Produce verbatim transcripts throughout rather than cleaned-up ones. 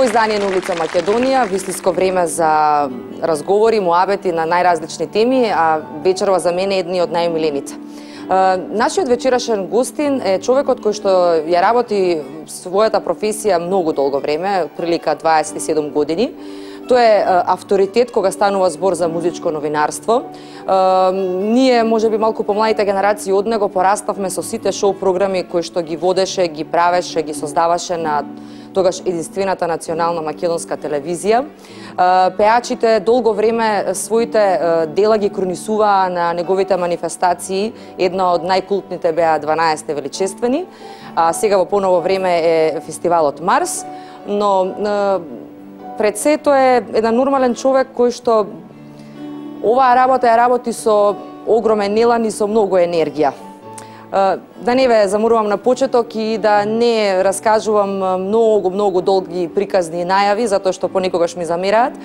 Издание на улица Македонија, вистинско време за разговори, муабети на најразлични теми, а вечерва за мене е едни од најмилените. Нашиот вечерашен гостин е човекот кој што ја работи својата професија многу долго време, прилика дваесет и седум години. Тој е авторитет кога станува збор за музичко новинарство. Ние, можеби малку помладите генерации од него, пораставме со сите шоу програми кои што ги водеше, ги правеше, ги создаваше на тогаш единствената национална македонска телевизија. Пеачите долго време своите дела ги кронисуваа на неговите манифестации. Една од најкултните беа дванаесетте величествени, а сега во поново време е фестивалот Марс, но пред се тој е еден нормален човек кој што оваа работа ја работи со огромен елан и со многу енергија. Да не ве заморувам на почеток и да не раскажувам многу, многу долги приказни најави, затоа што понекогаш ми замераат.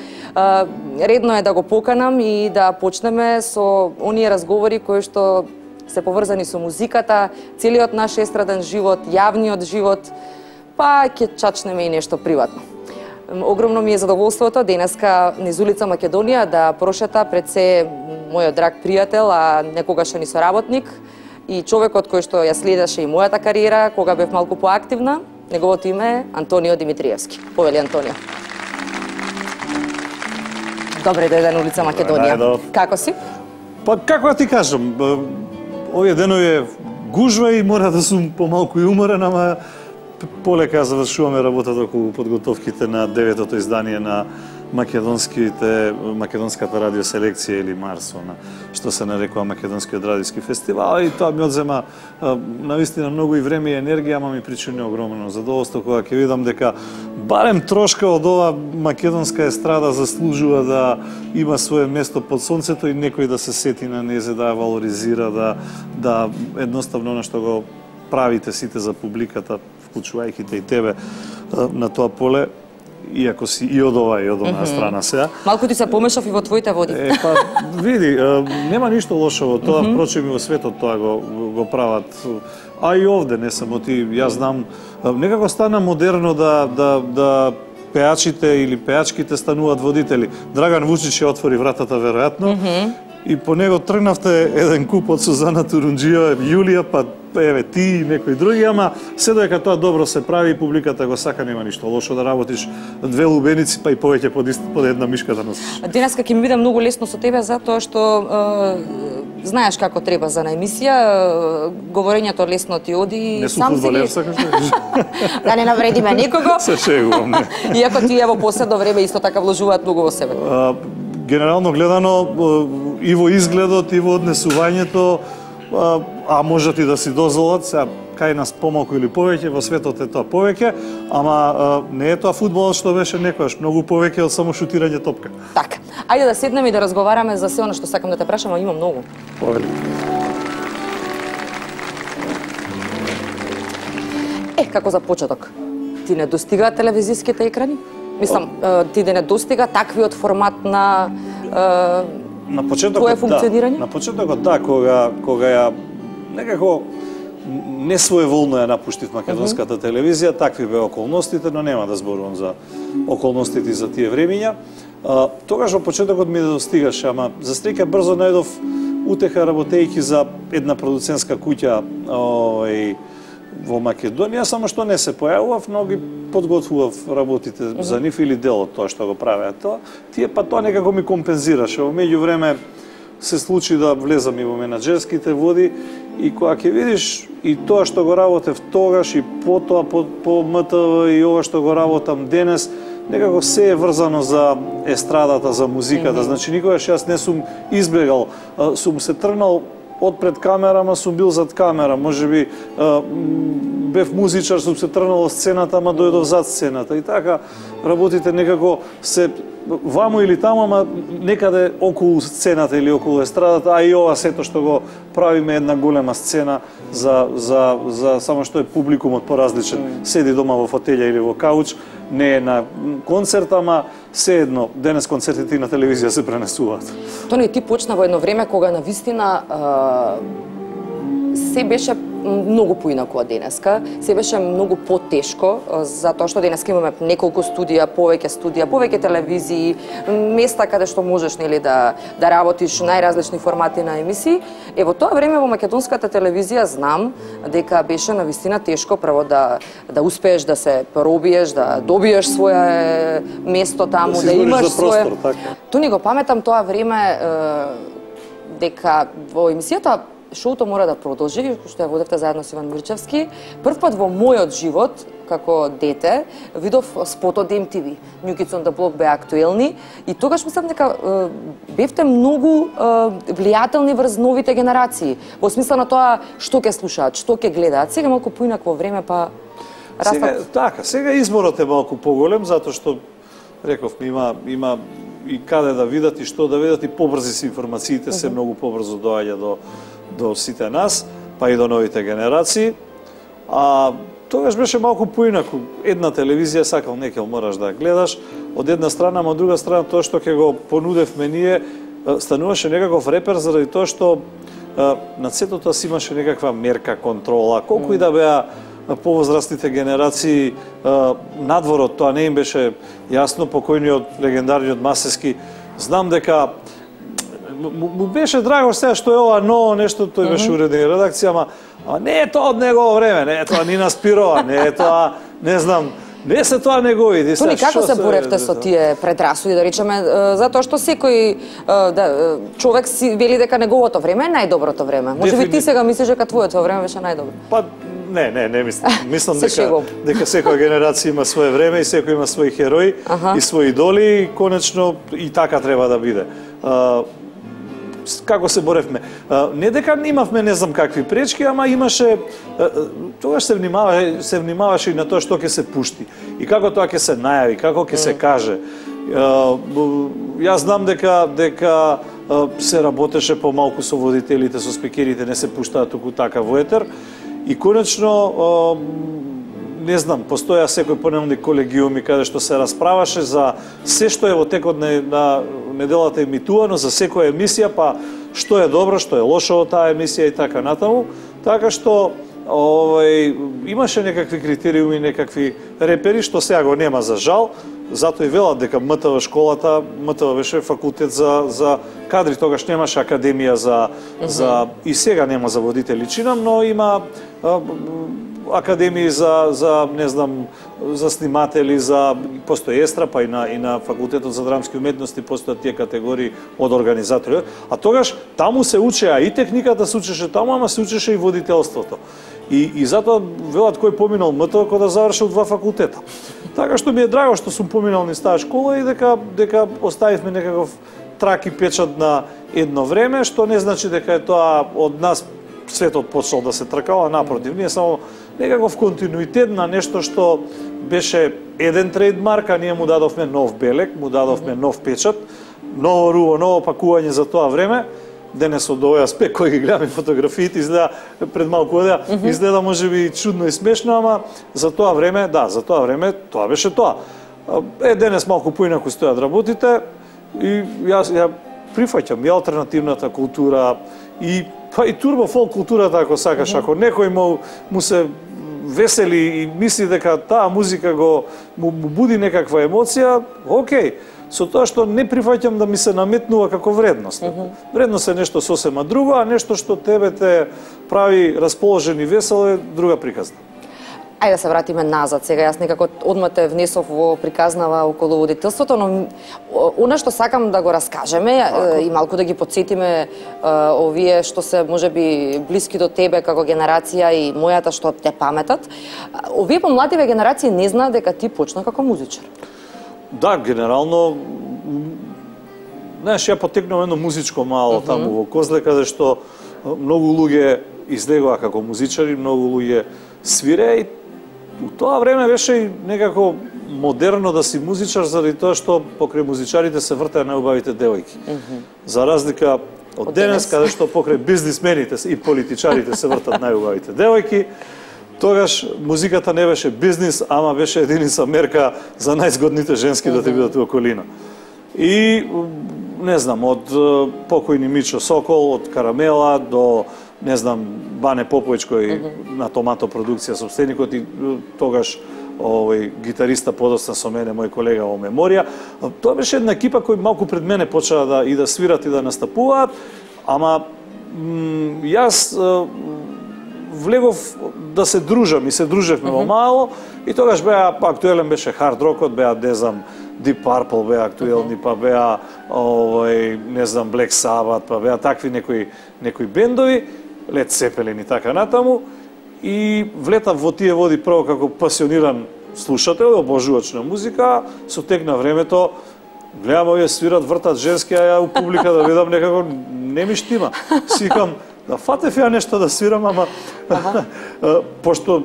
Редно е да го поканам и да почнеме со оние разговори кои што се поврзани со музиката, целиот наш естраден живот, јавниот живот, па ќе чачнеме и нешто приватно. Огромно ми е задоволството денеска низ улица Македонија да прошета пред се мојот драг пријател, а некогашен и соработник, и човекот кој што ја следеше и мојата кариера кога бев малку поактивна. Неговото име е Антонио Димитриевски. Повели Антонио. Добре дојде на улица Македонија. Добре, како си? Па како да ти кажам, овие денови е гужва и мора да сум помалку и уморен, ама полека завршуваме работата околу подготовките на деветото издание на македонските македонската радиоселекција или Марсона, што се нарекува Македонскиот радиски фестивал, и тоа ми одзема навистина многу и време и енергија, ама ми причини огромно задоволство кога ќе видам дека барем трошка од ова македонска естрада заслужува да има свое место под сонцето и некој да се сети на незе, да ја валоризира, да да едноставно она што го правите сите за публиката, вклучувајќи те и тебе на тоа поле, иако си и од ова и од онаа страна сега. Малку ти се помешав и во твоите води. Е, па, види, нема ништо лошо во тоа, впрочем и во светот тоа го, го прават. А и овде, не само ти, јас знам, некако стана модерно да, да, да пеачите или пеачките стануваат водители. Драган Вучич ја отвори вратата, веројатно, и по него тргнавте еден куп од Сузана Турунџиева, Јулија, па еве ти и некои други, ама се додека тоа добро се прави и публиката го сака, нема ништо лошо да работиш две лубеници, па и повеќе под, под една мишка да носиш. Денеска ќе ми биде многу лесно со тебе, затоа што е, знаеш како треба за на емисија, говорењето лесно ти оди. Не сум фудбалер, сакаш да кажеш? Да не навредиме никого. Се шегувам, не. Иако тие во последно време исто така вложуваат многу во себе. А, генерално гледано, и во изгледот, и во однесувањето, а, а можат и да си дозволат, сега кај нас помалку или повеќе, во светот е тоа повеќе, ама а, не е тоа фудбалот што беше некојаш, многу повеќе од само шутирање топка. Така, ајде да седнеме и да разговараме за се она што сакам да те прашам, а има многу. Повели. Е, како за почеток, ти не достигаат телевизиските екрани? Мислам, ти да не достига таквиот формат на на почетокот, твое функционирање? Да, на почетокот да, кога кога ја некако не своеволно ја напуштив македонската uh-huh. телевизија, такви беа околностите, но нема да зборувам за околностите за тие времиња. А, тогаш во почетокот ми да достигаше, ама за среќа брзо најдов утеха работејќи за една продуцентска куќа овој во Македонија, само што не се појавував, но ги подготвував работите uh-huh. за нив или дел од тоа што го правеа тоа. Тие па тоа некако ми компензираше. Во меѓувреме се случи да влезам и во менаџерските води и кога ќе видиш и тоа што го работев тогаш и потоа по, по М Т В и ова што го работам денес, некако се е врзано за естрадата, за музиката. Mm-hmm. Значи никогаш јас не сум избегал, сум се тргнал од пред камера, ама сум бил зад камера. Можеби бев музичар, сум се тргнал од сцената, ама дојдов зад сцената. И така работите некако се ваму или таму, ама некаде околу сцената или околу естрадата, а и ова сето што го правиме една голема сцена за, за, за само што е публикумот поразличен. Седи дома во фотелја или во кауч, не е на концерт, ама се едно, денес концертите и на телевизија се пренесуваат. Тони, ти почна во едно време кога на вистина се беше многу поинаку од денеска, се беше многу потешко, затоа што денеска имаме неколку студија, повеќе студија, повеќе телевизии, места каде што можеш нели да да работиш најразлични формати на емисии. Е во тоа време во македонската телевизија знам дека беше на вистина тешко прво да да успееш да се пробиеш, да добиеш свое место таму, да, да имаш свое. Тони, го паметам тоа време дека во емисијата шоуто мора да продолжи, што ја водевте заедно со Иван Мирчевски. Прв пат во мојот живот, како дете, видов спотот Ем Ти Ви. New Kids on the Block беа актуелни и тогаш мислам дека бевте многу влијателни врз новите генерации. Во смисла на тоа што ќе слушаат, што ќе гледаат. Сега малку поинакво време, па растат... Сега, така, сега изборот е малку поголем, затоа што, реков, има, има и каде да видат и што да видат, и побрзи се информациите, се многу побрзо доаѓа до до сите нас, па и до новите генерации. А тогаш беше малку поинаку. Една телевизија сакал некел мораш да гледаш, од една страна, а од друга страна тоа што ќе го понудевме ние стануваше некаков репер заради тоа што над сето тоа си имаше некаква мерка, контрола, колку и да беа повозрастните генерации надворот, тоа не им беше јасно. Покојниот легендарниот Масески, знам дека му беше драго сега што е ова ново нешто, тој беше уреден редакција, ама, ама не е тоа од негово време, не е тоа Нина Спирова, не е тоа, не знам, не се тоа негови. Тони, како се боревте со тие предрасуди, да речеме, затоа што секој да, човек си вели дека неговото време е најдоброто време. Може би ти сега мислиш дека твоето време беше најдобро? Па, не, не, не мислам. Мислам дека, дека секоја генерација има свое време и секој има своји херои и своји идоли и конечно и така треба да биде. Како се боревме? Не дека имавме не знам какви пречки, ама имаше, тогаш се внимаваше, се внимаваше и на тоа што ќе се пушти и како тоа ќе се најави, како ќе се каже. Јас знам дека дека се работеше помалку со водителите, со спикерите, не се пуштаа туку така во етер и конечно не знам, постоја секој понемни колегиуми каде што се расправаше за се што е во текот на неделата емитувано, за секоја емисија, па што е добро, што е лошо во таа емисија и така натаму. Така што овај имаше некакви критериуми, некакви репери што сега го нема за жал. Затоа и велат дека М Т В школата, М Т В беше факултет за за кадри, тогаш немаше академија за за и сега нема за водители чинам, но има академии за за не знам за сниматели, за постои естра, па и на и на факултетот за драмски уметности постојат тие категории од организатори. А тогаш таму се учеа и техниката се учеше таму, ама се учеше и водителството. И и затоа велат кој поминал М Т В кога да завршил два факултета. Така што ми е драго што сум поминал низ таа школа и дека дека оставивме некаков трак и печат на едно време, што не значи дека е тоа од нас светот почнал да се тркала, напротив, ние само некаков континуитет на нешто што беше еден трейдмарк, а ние му дадовме нов белег, му дадовме нов печат, ново руво, ново пакување за тоа време. Денес од овој аспект кој ги гледаме фотографиите изгледа пред малку одеа, mm -hmm. изгледа можеби чудно и смешно, ама за тоа време, да, за тоа време тоа беше тоа. Е, денес малку поинаку стојат работите и јас ја прифаќам и алтернативната култура и па и турбо фолк културата ако сакаш, ако некој му, му се весели и мисли дека таа музика го му, му буди некаква емоција, окей. Со тоа што не прифаќам да ми се наметнува како вредност. Mm -hmm. Вредност е нешто сосема друго, а нешто што тебе те прави расположен и весел е друга приказна. Ајде да се вратиме назад сега. Јас некако одма те внесов во приказнава околу водителството, но она што сакам да го раскажеме Ако. и малку да ги подсетиме овие што се можеби блиски до тебе како генерација и мојата што те паметат. Овие помладиве генерации не знаат дека ти почна како музичар. Да, генерално, знаеш, ја потекнав едно музичко мало mm -hmm. таму во Козле, каде што многу луѓе излегоа како музичари, многу луѓе свиреа и у тоа време беше и некако модерно да си музичар заради тоа што покрај музичарите се вртеа најубавите девојки. Mm -hmm. За разлика од, од денес, каде што покрај бизнисмените и политичарите се вртат најубавите девојки, тогаш музиката не беше бизнис, ама беше единица мерка за најзгодните женски mm -hmm. да ти бидат у околина. И не знам, од покојни Мичо Сокол, од Карамела до не знам, Бане Поповиќ кој mm -hmm. на Томато продукција собственикот и тогаш овој гитариста подоцна со мене, мој колега во Меморија. Тоа беше една екипа кој малку пред мене почаа да и да свират и да настапуваат, ама јас влегов да се дружам и се дружевме mm -hmm. во мало и тогаш беа актуелен беше хард рокот, беа не знам Deep Purple беа актуелни, па беа овој не знам Black Sabbath, па беа такви некои некои бендови, Led Zeppelin и така натаму. И влетав во тие води прво како пасиониран слушател, обожувач на музика, со тек на времето гледам овие свират, вртат женски, а ја у публика да видам некако не ми штима. Сикам да фатев ја нешто да свирам, ама пошто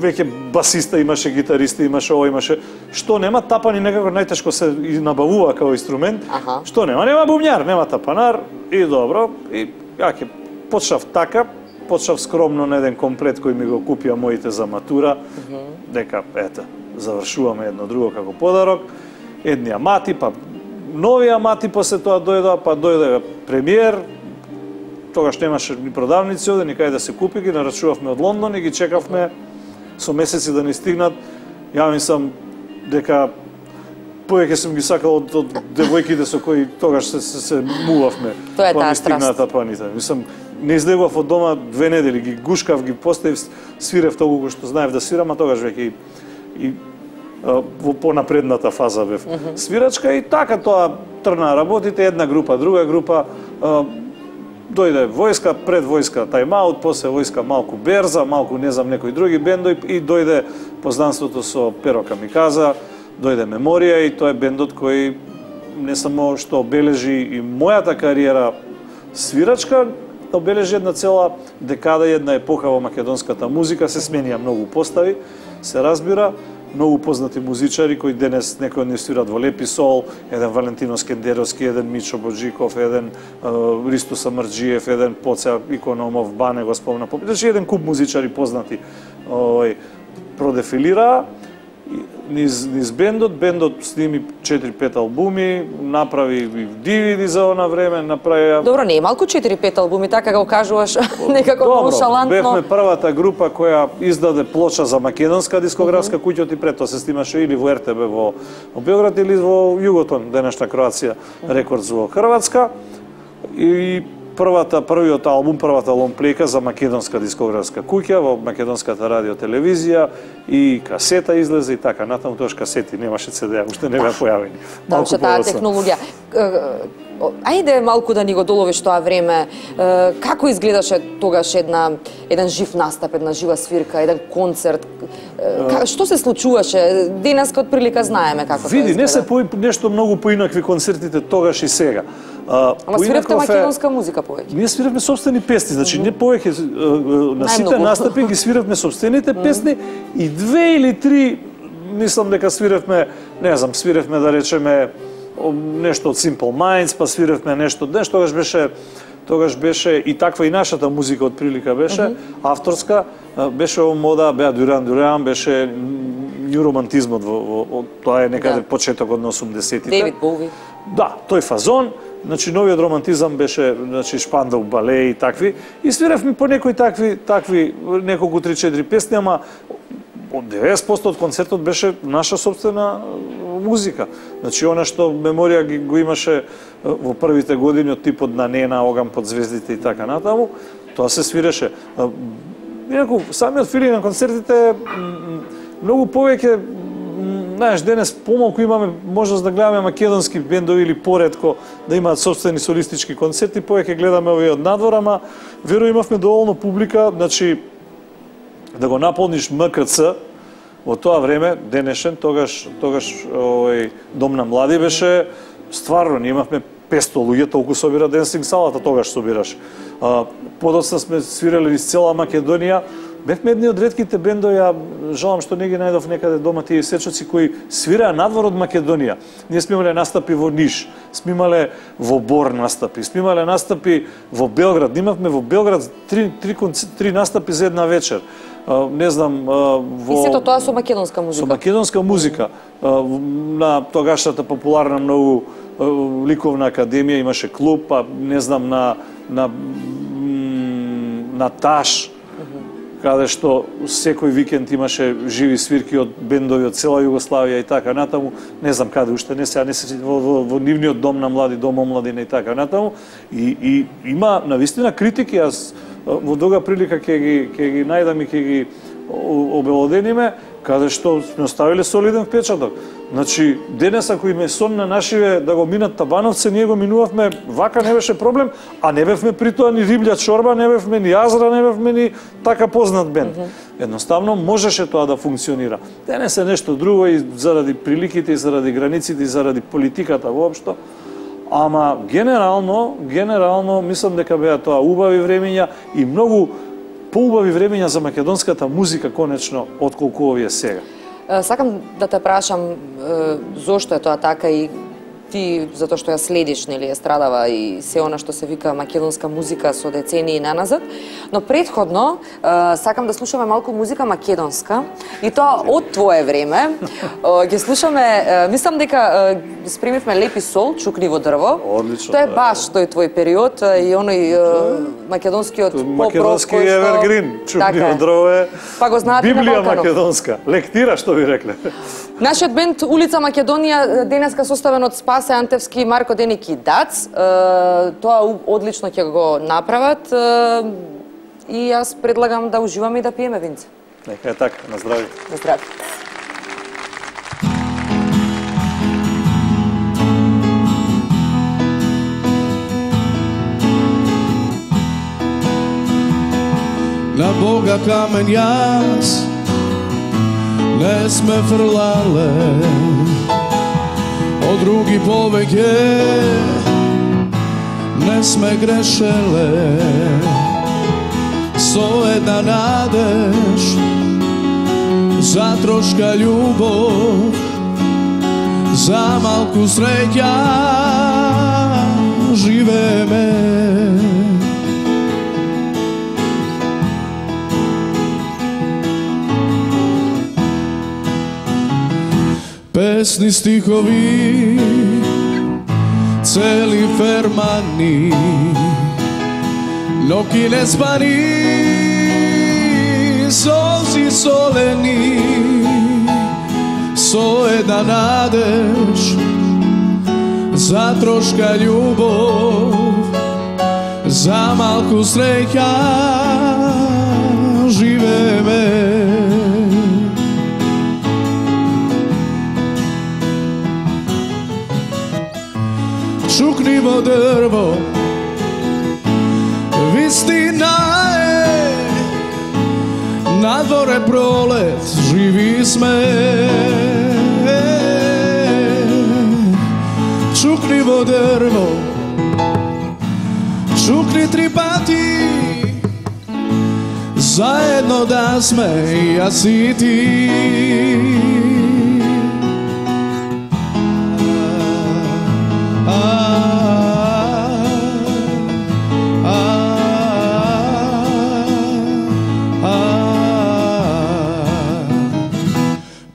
веќе басиста имаше, гитариста имаше, ова имаше, што нема тапани некако најтешко се набавува како инструмент. Ага. Што нема, нема бумњар, нема тапанар и добро, и ја ќе почнав така. Почнав скромно на еден комплет кој ми го купија моите за матура, mm -hmm. дека, ета, завршуваме едно друго како подарок. Едни амати, па нови амати, после тоа дојда, па дојде премиер, тогаш немаше ни продавници оде, никај да се купи, ги нарачувавме од Лондон и ги чекавме со месеци да ни стигнат. Ја мислам дека повеќе сум ги сакал од, од девојките со кои тогаш се, се, се мувавме. Тоа е таа страст. Тапаните. Мислам, не излегував од дома две недели, ги гушкав, ги поставив, свирев толку што знаев да свирам, а тогаш веќе и, и а, во понапредната фаза бев. Mm -hmm. Свирачка и така тоа трна работите, една група, друга група, а, дојде војска, пред војска Тайм-аут, после војска малку Берза, малку не знам некои други бендови и дојде познанството со Перо Камиказа, дојде Меморија и тоа е бендот кој не само што обележи и мојата кариера свирачка, обележи една цела декада, една епоха во македонската музика, се сменија многу постави, се разбира, многу познати музичари кои денес некои од нив свират во Лепи Сол, еден Валентино Скендеровски, еден Мичо Боджиков, еден uh, Ристо Самарджиев, еден Поце Икономов, Бане го спомна, значи еден куп музичари познати uh, продефилираа низ, низ бендот. Бендот сними четири-пет албуми, направи и ди ви ди за она време, направи... Добро, не е малку четири-пет албуми, така го кажуваш некако ноншалантно. Добро, бевме првата група која издаде плоча за македонска дискографска куќа, оти пред тоа се снимаше или во ер те бе во, во Белград или во Југотон, денешна Кроација Рекордс во Хрватска. И првата, првиот албум, првата лонплейка за македонска дискографска куќа во македонската радиотелевизија и касета излезе и така натаму, тоаш касети немаше це де, уште не беа појавени. Малку таа технологија. Ајде малку да ни го доловиш тоа време. Како изгледаше тогаш една еден жив настап, една жива свирка, еден концерт? Што се случуваше? Денеска од прилика знаеме како Види, тоа изгледа. не се по, нешто многу поинакви концертите тогаш и сега. А, Ама свиревте македонска музика повеќе? Ние свиревме собствени песни, значи не повеќе на сите настапи ги свиревме собствените песни и две или три, мислам дека свиревме, не знам, свиревме да речеме нешто од Simple Minds, па свиревме нешто, нешто тогаш беше тогаш беше и таква и нашата музика од прилика беше mm -hmm. авторска, беше во мода, беа Дюран Дюран, беше нью романтизмот во, во, во тоа е некаде да. Почетокот на осумдесетите. Дейвид Боуи. Да, тој фазон. Значи новиот романтизам беше, значи Шпандау балеи и такви, и свиревме по некои такви такви неколку три-четири песни, ама од деветдесет проценти од концертот беше наша собствена музика. Значи она што Меморија го имаше во првите години од типот на Нена, Оган под звездите и така натаму, тоа се свиреше. Инаку самиот филинг на концертите многу повеќе, знаеш, денес помалку имаме можност да гледаме македонски бендови или поретко да имаат собствени солистички концерти, повеќе гледаме овие од надвор, ама веро имавме доволно публика, значи да го наполниш М К Ц во тоа време, денешен, тогаш тогаш овој Дом на млади беше стварно, ние имавме песто луѓе, толку собира денсинг салата, тогаш собираш. Подоцна сме свирали из цела Македонија. Бевме едни од ретките бендови, ја жалам што не ги најдов некаде дома тие сечоци кои свираа надвор од Македонија. Ние сме имале настапи во Ниш, сме имале во Бор настапи, сме имале настапи во Белград. Имавме во Белград три, три, три настапи за една вечер. Не знам, во... И сето тоа со македонска музика? Со македонска музика. На тогашната популарна многу ликовна академија имаше клуб, па не знам, на, на, на Таш, каде што секој викенд имаше живи свирки од бендови од цела Југославија и така натаму, не знам каде уште, не сега не се во, во, во нивниот дом на млади, дом омладина и така натаму, и, и има навистина критики, јас во друга прилика ќе ги ќе ги најдам и ќе ги обелодениме, каде што сме оставиле солиден впечаток. Значи, денес ако им е сон на нашиве да го минат Табановце, ние го минувавме, вака не беше проблем, а не бевме при тоа ни риблја чорба, не бевме ни Азра, не бевме ни така познат бенд. Едноставно можеше тоа да функционира. Денес е нешто друго и заради приликите, и заради границите, и заради политиката воопшто. Ама генерално, генерално мислам дека беа тоа убави времења и многу поубави времења за македонската музика конечно отколку овие сега. Сакам да те прашам зошто е тоа така и ти, затоа што ја следиш, нели, е страдава и се она што се вика македонска музика со децении наназад, но предходно сакам да слушаме малку музика македонска и тоа од твое време. Ги слушаме, мислам дека спремивме Лепи сол, Чукливо дрво. Одлично. Тоа е баш тој твој период и оној македонскиот поп-рок македонски евергрин. Чукливо дрво е Библија македонска. Лектира, што ви рекле. Нашиот бенд Улица Македонија денеска составен од Спасе Антевски, Марко Деники и Дац. Тоа одлично ќе го направат и јас предлагам да уживаме и да пиеме винце. Нека е така, на здравје. На здравје. На Бога камен јас не сме фрлале, од други повеќе не сме грешеле. Со една надеж за трошка љубов, за малку среќа живееме. Песни, стихови, цели фермани, ноки не спани, солзи солени, со една надеж за трошка љубов, за малку среќа живееме. Чукливо дрво, вистина е, надвор е пролет, живи сме. Чукливо дрво, чукни три пати, заедно да сме јас и ти.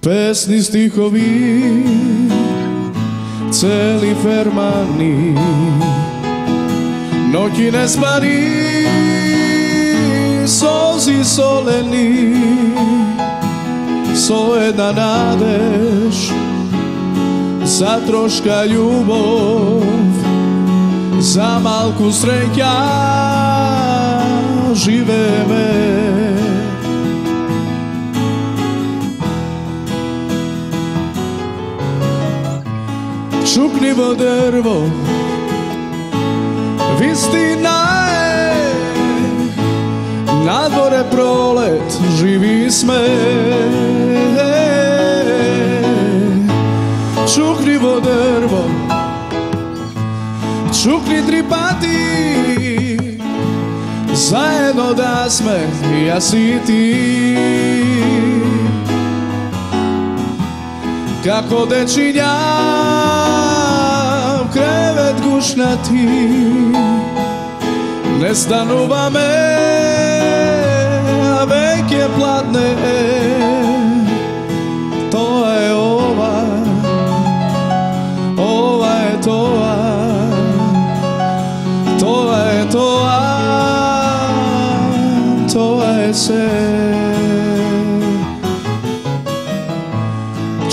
Песни, стихови, цели фермани, ноќи не спани, солзи солени, со една надеж за трошка љубов, за малку среќа живееме. Чукливо дрво, вистина е, надвор е пролет, живи сме. Чукливо дрво, Чукни три пати, заедно да сме јас и ти. Како дечиња в кревет гушнати, не стануваме, а веќе пладне е. Тоа е ова, ова е тоа, тоа е тоа, тоа е се.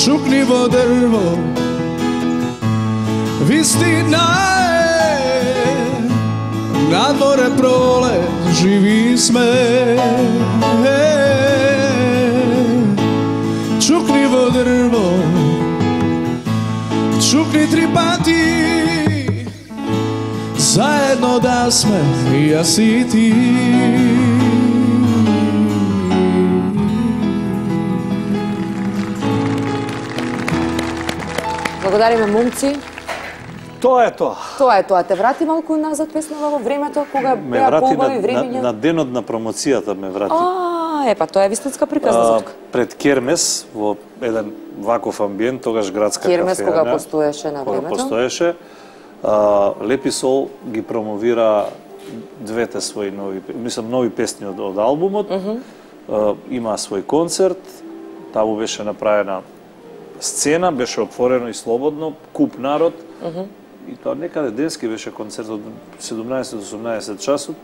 Чукни во дрво, вистина е, надвор е пролет, живи сме. Чукни во дрво, чукни три пати, заедно да сме јас и ти. Благодариме, момци. Тоа е тоа. Тоа е тоа. Те врати малку назад песнава во времето кога Ме беа врати поубави на, времиња. на, на денот на промоцијата ме врати. А, епа, тоа е вистинска приказна затоа. Пред Кермес во еден ваков амбиент, тогаш градска Кермес кафеја, кога постоеше на кога времето. постоеше, а, Лепи Сол ги промовира двете своји нови, мислам нови песни од, од албумот. Uh -huh. а, има свој концерт, таму беше направена сцена, беше отворено и слободно, куп народ. Uh -huh. И тоа некаде денски беше концерт од седумнаесет до осумнаесет часот.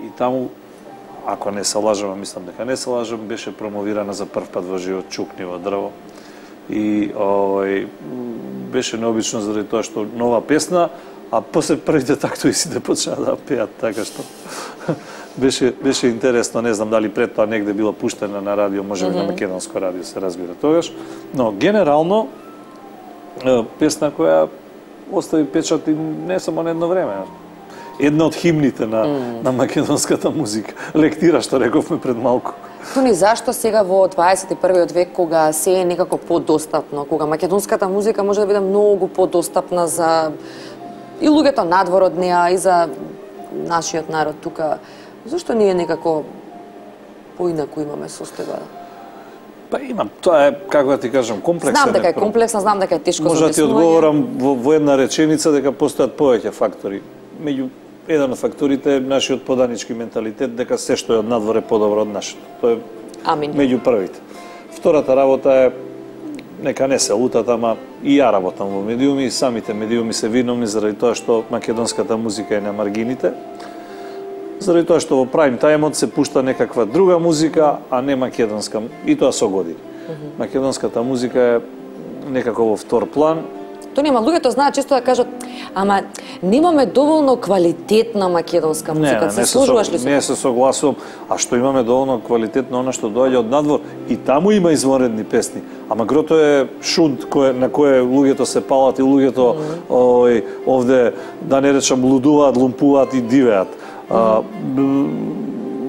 И таму, ако не се лажам, мислам дека не се лажам, беше промовирана за прв пат во живот Чукни во дрво. И овој беше необично заради тоа што нова песна, а после првите тактови сите почнаа да пеат, така што беше беше интересно, не знам дали пред тоа негде била пуштена на радио, можеби mm -hmm. на македонско радио се разбира тогаш, но генерално песна која остави печат и не само на едно време. Една од химните на, mm. на македонската музика. Лектира, што рековме пред малку. Тони, зашто сега во дваесет и првиот век, кога се е некако подостапно, кога македонската музика може да биде многу подостапна за и луѓето надвор од неа, и за нашиот народ тука, зашто ние некако поинаку имаме состојба? Па имам, тоа е, како да ти кажам, комплексен. Знам дека е комплексна, знам дека е тешко за Може да ти објаснување. одговорам во, во една реченица дека постојат повеќе фактори. Меѓу еден од факторите е нашиот поданички менталитет, дека се што е од надвор е подобро од нашето. Тоа е Амин. Меѓу првите. Втората работа е, нека не се лутат, ама и ја работам во медиуми, и самите медиуми се виновни заради тоа што македонската музика е на маргините, заради тоа што во прайм тајмот се пушта некаква друга музика, а не македонска, и тоа со години. Mm -hmm. Македонската музика е некако во втор план. Тоа нема, луѓето знаат често да кажат, ама немаме доволно квалитетна македонска музика. Не, не, се не сложуваш ли со, со не се согласувам, а што имаме доволно квалитетно она што доаѓа од надвор, и таму има извонредни песни. Ама грото е шунт кој, на кое луѓето се палат и луѓето mm -hmm. ој, овде, да не речам, лудуваат, лумпуваат и дивеат. Mm -hmm. а,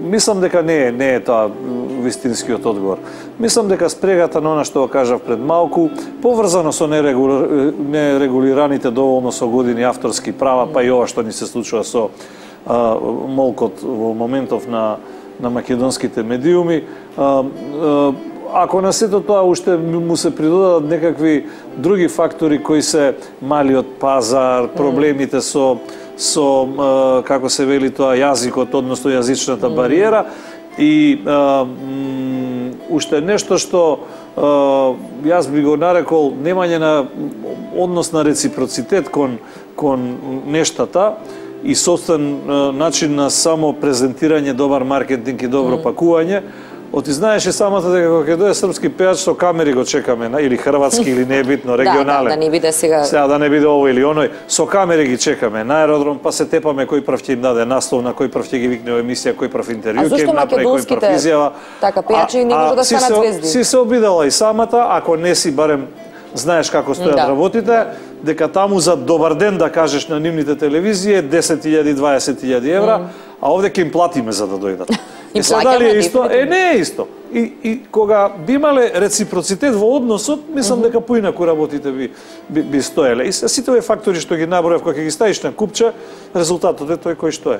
мислам дека не е, не е тоа вистинскиот одговор. Мислам дека спрегата на она што го кажав пред малку, поврзано со нерегулираните доволно со години авторски права, па и ова што ни се случува со а, молкот во моментов на, на македонските медиуми. А, а, ако на сето тоа уште му се придодадат некакви други фактори кои се малиот пазар, проблемите со со, како се вели тоа, јазикот, односно јазичната бариера, и а, м, уште нешто што а, јас би го нарекол немање на однос на реципроцитет кон, кон нештата и собствен а, начин на само презентирање, добар маркетинг и добро пакување. Оти знаеш и самата дека кога ќе дојде српски пејач со камери го чекаме, или хрватски, или не е битно, регионален. Да, да, да не биде сега... Сега да не биде ово или оној, со камери ги чекаме на аеродром, па се тепаме кој прв ќе им даде наслов, на кој прв ќе ги викне во емисија, кој прв интервју ќе им направи, кој прв изјава. Така пејачи не може да станат звезди. Си се обидала и самата, ако не си барем знаеш како стојат да. работите, дека таму за добар ден да кажеш на нивните телевизии десет илјади, дваесет илјади евра, mm. а овде ќе им платиме за да дојдат. И сега дали е исто? Е, не е исто. и, и кога би имале реципроцитет во односот, мислам дека поинаку работите би, би, би стоеле. И сите овие фактори што ги набројав, кога ги ставиш на купче, резултатот е тој кој што е.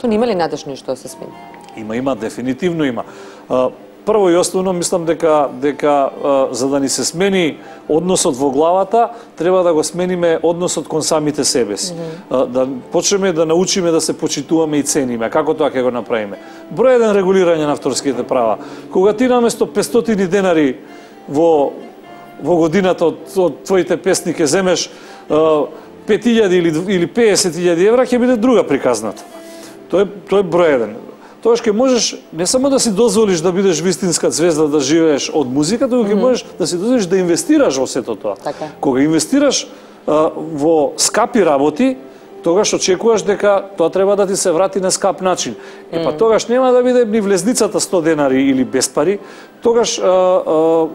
То нема ли надеж нешто да се смени? Има, има, дефинитивно има. Прво и основно мислам дека дека за да ни се смени односот во главата, треба да го смениме односот кон самите себе си. Mm -hmm. Да почнеме да научиме да се почитуваме и цениме. Како тоа ќе го направиме? Број еден, регулирање на авторските права. Кога ти наместо петстотини денари во во годината од, од твоите песни ќе земеш пет илјади или или песет илјади евра, ќе биде друга приказната. Тој тој е број еден. Тоа ќе можеш не само да си дозволиш да бидеш вистинска звезда, да живееш од музика, туку ќе можеш да си дозволиш да инвестираш во сето тоа. Така. Кога инвестираш а, во скапи работи, тогаш очекуваш дека тоа треба да ти се врати на скап начин. Е па тогаш нема да биде ни влезницата сто денари или без пари, тогаш а, а,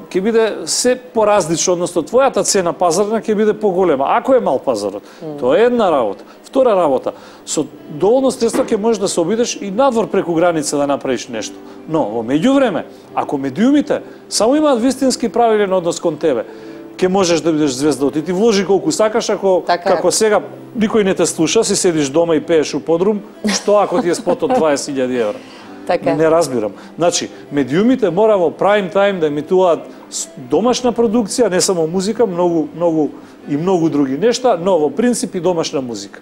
ќе биде се поразлично, односно твојата цена пазарна ќе биде поголема. Ако е мал пазарот, тоа е една работа. Втора работа, со доволно средства ќе можеш да се обидеш и надвор преку граница да направиш нешто. Но во меѓувреме, ако медиумите само имаат вистински правилен однос кон тебе, ќе можеш да бидеш звезда, ти ти вложи колку сакаш, ако така како сега никој не те слуша, си седиш дома и пееш у подрум, што ако ти е спот од дваесет илјади евра? Така. Не разбирам. Значи, медиумите мора во прайм тајм да емитуваат домашна продукција, не само музика, многу многу и многу други нешта, но во принцип и домашна музика.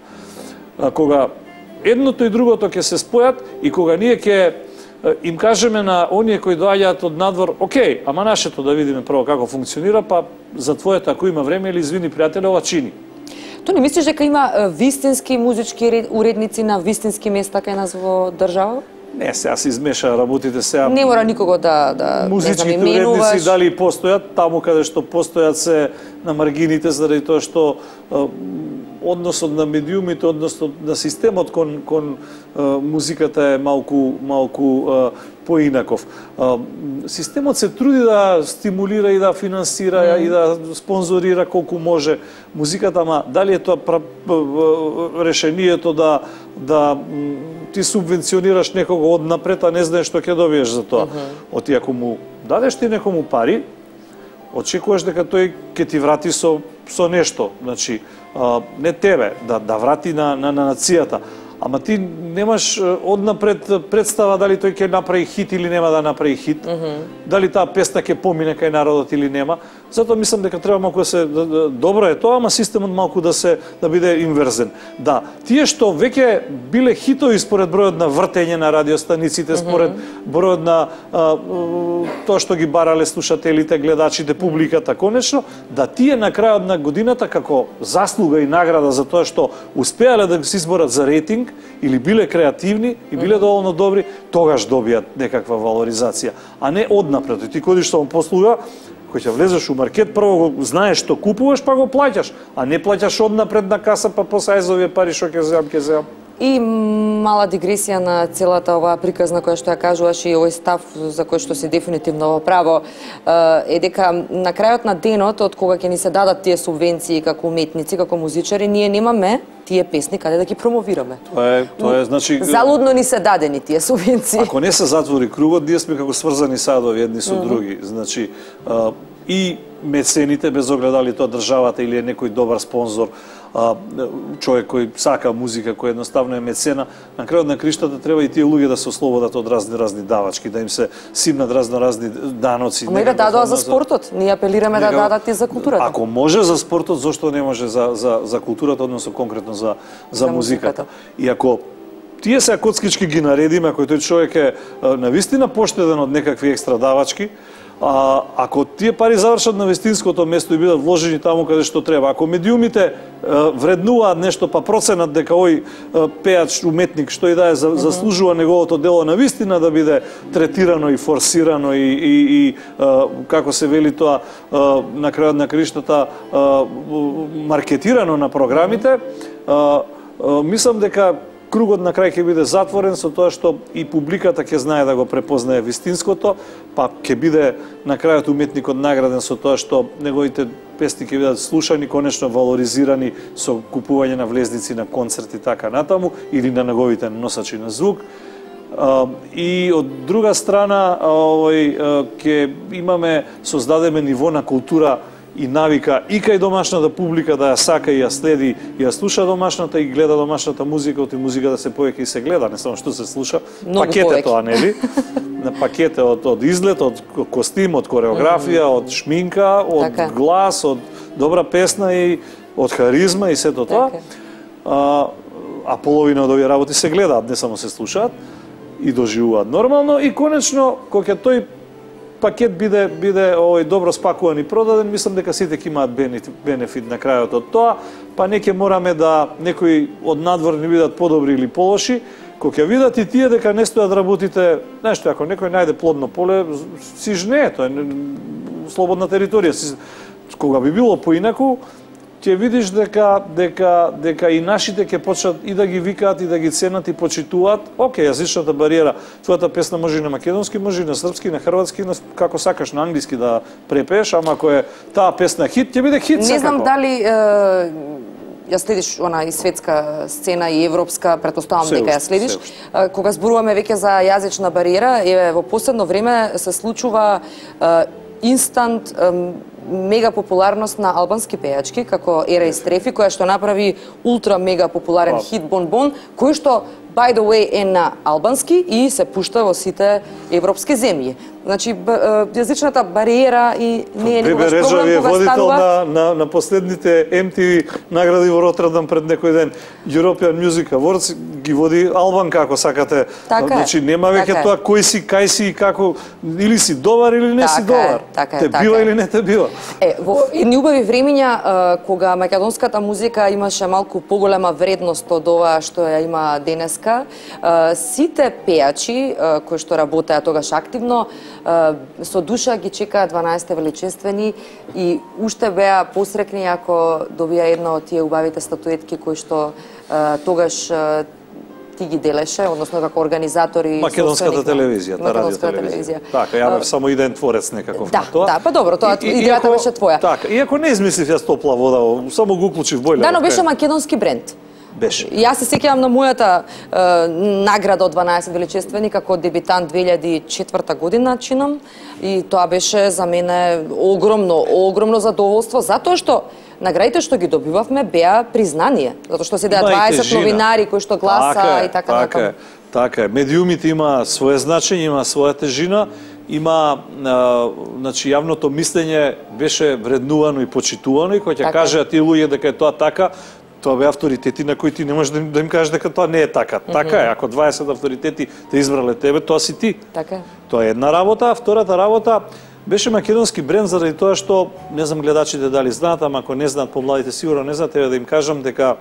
А кога едното и другото ќе се спојат и кога ние ќе им кажеме на оние кои доаѓаат од надвор, окей, ама нашето да видиме прво како функционира, па за твоето ако има време или извини пријателе, ова чини. То не мислиш дека има вистински музички уредници на вистински места кај нас во држава? Не, сега се измеша работите сега. Не мора никого да да музичките уредници дали постојат, таму каде што постојат се на маргините заради тоа што односот на медиумите, односно на системот кон кон музиката е малку малку поинаков. Системот се труди да стимулира и да финансира mm. и да спонзорира колку може музиката, ама дали е тоа решението да да ти субвенционираш некого однапред, а не знаеш што ќе добиеш за тоа. Mm -hmm. Оти ако му дадеш ти некому пари, очекуваш дека тој ќе ти врати со со нешто, значи а, не тебе, да да врати на на, на нацијата. Ама ти немаш однапред представа дали тој ќе направи хит или нема да направи хит, mm -hmm. дали таа песна ќе помине кај народот или нема. Затоа мислам дека треба малку да се да, да, добро е тоа, ама системот малку да се да биде инверзен. Да, тие што веќе биле хитови според бројот на вртење на радиостаниците, според бројот на а, тоа што ги барале слушателите, гледачите, публиката, конечно, да тие на крајот на годината како заслуга и награда за тоа што успеале да се изборат за рейтинг или биле креативни и биле доволно добри, тогаш добијат некаква валоризација, а не однапред. Ти кодиш со послуга, кој ќе влезеш у маркет, прво го знаеш што купуваш, па го плаќаш, а не плаќаш однапред на каса, па после ајзовие пари што ќе земам, ќе земам. И мала дигресија на целата оваа приказна која што ја кажуваш и овој став за кој што си дефинитивно во право е дека на крајот на денот од кога ќе ни се дадат тие субвенции како уметници, како музичари, ние немаме тие песни каде да ги промовираме. Тоа е, тоа е, значи залудно ни се дадени тие субвенции. Ако не се затвори кругот, ние сме како сврзани садови едни со други. Значи а, и мецените, без оглед дали тоа државата или е некој добар спонзор, а, човек кој сака музика, кој едноставно е мецена, на крајот на криштата треба и тие луѓе да се ослободат од разни разни давачки, да им се симнат разно разни даноци. Ама и да дадоа за спортот. Ние апелираме да дадат и за културата. Ако може за спортот, зошто не може за за за културата, односно конкретно за за, за музиката. И ако тие се коцкички ги наредиме, ако тој човек е навистина поштеден од некакви екстра давачки, а, ако тие пари завршат на вистинското место и бидат вложени таму каде што треба, ако медиумите а, вреднуваат нешто, па проценат дека овој пеач, уметник, што и да е, заслужува неговото дело на вистина да биде третирано и форсирано и, и, и а, како се вели тоа, а, на крајот на криштата, а, маркетирано на програмите, а, а, мислам дека кругот на крај ќе биде затворен со тоа што и публиката ќе знае да го препознае вистинското, па ќе биде на крајот уметникот награден со тоа што неговите песни ќе бидат слушани, конечно валоризирани со купување на влезници на концерти така натаму или на неговите носачи на звук. И од друга страна, овој ќе имаме создадеме ниво на култура и навика и кај домашната публика да ја сака и ја следи и ја слуша домашната и гледа домашната музика, оти музика да се повеќе и се гледа, не само што се слуша. Многу пакете повеќе. тоа, нели? На пакете од, од изглед, од костим, од кореографија, mm. од шминка, од така. глас, од добра песна и од харизма и сето тоа. Така. А, а половина од овие работи се гледаат, не само се слушаат и доживуваат нормално и конечно кога ќе тој пакет биде биде овој добро спакуван и продаден, мислам дека сите ќе имаат бенефит на крајот од тоа, па не ќе мораме да некои од надвор не бидат подобри или полоши, кога ќе видат и тие дека не стојат да работите, знаеш што, ако некој најде плодно поле, си жне, тоа е слободна територија. Кога би било поинаку, ќе видиш дека дека дека и нашите ќе почнат и да ги викаат и да ги ценат и почитуваат. Океј, јазичната бариера, твојата песна може и на македонски, може и на српски, на хрватски, на како сакаш на англиски да препееш, ама ако е таа песна хит, ќе биде хит. Не знам дали е, ја следиш она и светска сцена и европска, претпоставам дека ја следиш. Кога зборуваме веќе за јазична бариера, еве во последно време се случува е, инстант е, мега популарност на албански пејачки, како Ера и Стрефи, која што направи ултра мега популарен хит Бон Бон, кој што, by the way, е на албански и се пушта во сите европски земји. Значи, јазичната бариера и не е никогаш проблем кога водител станува... на, на, на последните Ем Ти Ви награди во Роттердам пред некој ден. European Music Awards ги води Албанка, ако сакате. Така значи, е. нема веќе така тоа кој си, кај си и како, или си добар или не така си добар. Така е, те така бива е. или не те бива. Е, во едни убави времиња, кога македонската музика имаше малку поголема вредност од ова што ја има денеска, сите пејачи кои што работеа тогаш активно, со душа ги чекаат дванаесет величествени и уште беа посрекни ако добија една од тие убавите статуетки кои што тогаш ти ги делеше, односно како организатори. Македонската телевизија, та радио телевизија. Така, ја бев само иден творец некаков да, на тоа. Да, па добро, тоа и, идејата беше твоја. Така, иако не измислив јас топла вода, само го уклучив бојлер. Да, но беше македонски бренд. Беше. Јас се сеќавам на мојата е, награда од дванаесет величествени како дебитант две илјади и четврта година чинам и тоа беше за мене огромно, огромно задоволство затоа што наградите што ги добивавме беа признание, затоа што се дваесет новинари кои што гласа така, и така така натаму. Така е, медиумите има свое значење, има своја тежина, има, а, значи, јавното мислење беше вреднувано и почитувано и кој ќе така. каже ти луѓе дека е тоа така, тоа бе авторитети на кои ти не можеш да им, да им кажеш дека тоа не е така. Mm -hmm. Така е, ако дваесет авторитети те избрале тебе, тоа си ти. Така. Тоа е една работа, а втората работа беше македонски бренд заради тоа што, не знам гледачите дали знаат, ама ако не знаат, помладите сигурно не знаат, еве да им кажам дека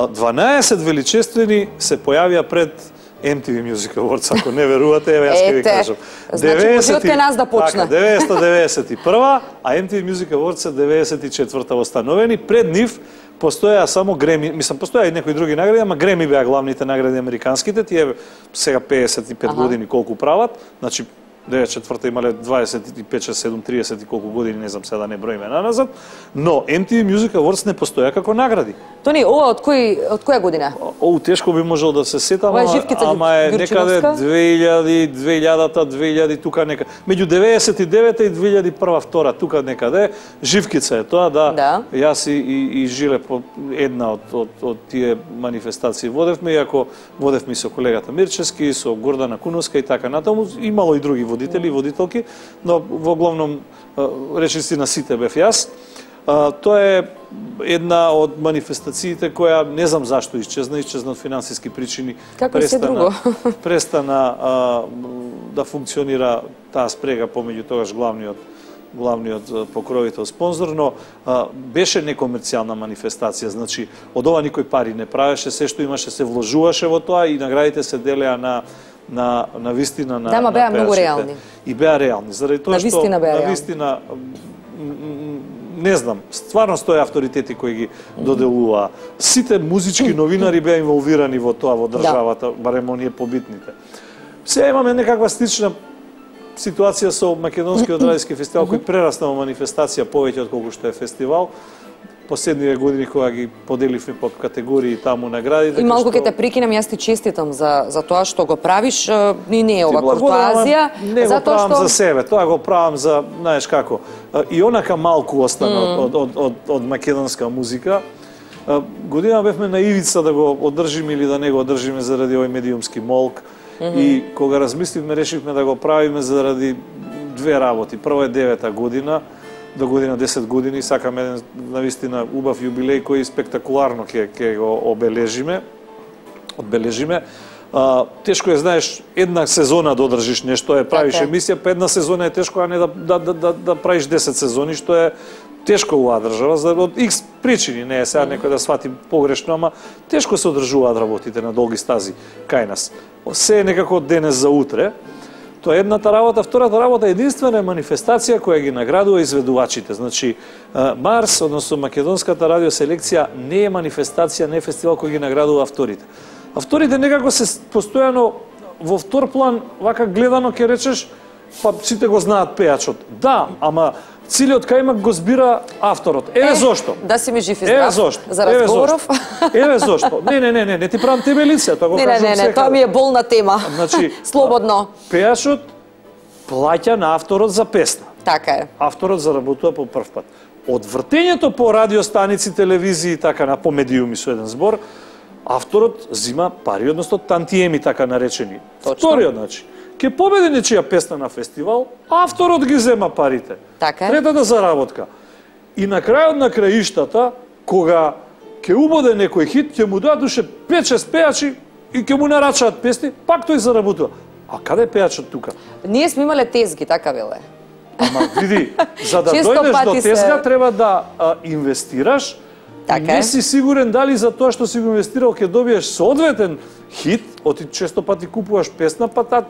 дванаесет величествени се појавија пред Ем Ти Ви Music Awards, ако не верувате, еве јас ќе ви кажам. Значи, можете кај нас да почне. Така, деветстотини деветдесет и прва, а Ем Ти Ви Music Awards се деветдесет и четврта установени. Пред нив постоја само Греми, мислам, постоја и некои други награди, ама Греми беа главните награди американските, тие сега пеесет и пет ага. години колку прават, значи деветдесет и четврта имале дваесет и пет, шест, седум, триесет и колку години, не знам сега да не броиме наназад, но Ем Ти Ви Music Awards не постоја како награди. Тони, ова од кој од која година? Оу, тешко би можел да се сетам, ама, ама е некаде две илјади, две илјадата, две илјади, тука некаде. Меѓу деветдесет и девета и две илјади и прва, втора, тука некаде. Живкица е тоа, да. да. Јас и, и, и Жиле по една од, од, од тие манифестации водевме, иако водевме со колегата Мирчевски, со Гордана Куновска и така натаму. Имало и други водители и водителки, но во главном речисти на сите бев јас. Uh, тоа е една од манифестациите која не знам зашто исчезна, исчезна од финансиски причини. Како се друго? Престана uh, да функционира таа спрега помеѓу тогаш главниот главниот покровител спонзор, но uh, беше некомерцијална манифестација, значи од ова никој пари не правеше, се што имаше се вложуваше во тоа и наградите се делеа на на на вистина на да, ма беа на многу реални. И беа реални, заради тоа што на вистина не знам, стварно стои авторитети кои ги доделуваа. Сите музички новинари беа инволвирани во тоа во државата, да. Барем оние побитните. Сега имаме некаква слична ситуација со македонскиот радиски фестивал кој прерасна во манифестација повеќе од колку што е фестивал. последниве години кога ги поделивме по категории таму награди. И малку ќе те прекинам, јас ти честитам за за тоа што го правиш, ни не е ова куртоазија, не го правам што... за себе, тоа го правам за, знаеш како, и онака малку остана mm. од, од, од, од македонска музика. Година бевме на ивица да го одржиме или да не го одржиме заради овој медиумски молк. Mm -hmm. И кога размисливме, решивме да го правиме заради две работи. Прво е девета година, до година десет години, сакаме еден навистина убав јубилеј кој спектакуларно ќе ќе го обележиме, одбележиме. А, тешко е, знаеш, една сезона да одржиш нешто, е правиш okay. емисија, па една сезона е тешко, а не да да да да, да правиш десет сезони, што е тешко у држава, за од икс причини, не е сега некој да свати погрешно, ама тешко се одржуваат работите на долги стази кај нас. Се е некако од денес за утре. Тоа е едната работа. Втората работа е единствена манифестација која ги наградува изведувачите. Значи, Марс, односно македонската радиоселекција, не е манифестација, не е фестивал кој ги наградува авторите. Авторите некако се постојано во втор план, вака гледано ќе речеш, па сите го знаат пејачот. Да, ама Цилиот кајмак го збира авторот. Еве е, зошто. Да си ми жив и здрав. Еве зошто. За разговоров. Еве зошто. Не, не, не, не, не ти правам тебе лице, тоа го не, кажам. Не, не, не, тоа ми е болна тема. Значи, слободно. Пејачот плаќа на авторот за песна. Така е. Авторот заработува по прв пат. Од вртењето по радиостаници, телевизии, така на по медиуми со еден збор, авторот зима пари, односно тантиеми така наречени. Точно. Вториот, значи, ќе победи нечија песна на фестивал, авторот ги зема парите. Така е. Третата заработка. И на крајот на краиштата, кога ќе убоде некој хит, ќе му дадат душе пет-шест пејачи и ќе му нарачаат песни, пак тој заработува. А каде е пејачот тука? Ние сме имале тезги, така веле. Ама види, за да дојдеш до тезга, се... треба да а, инвестираш. Така не си сигурен дали за тоа што си го инвестирал ќе добиеш соодветен хит, оти често пати купуваш песна, па та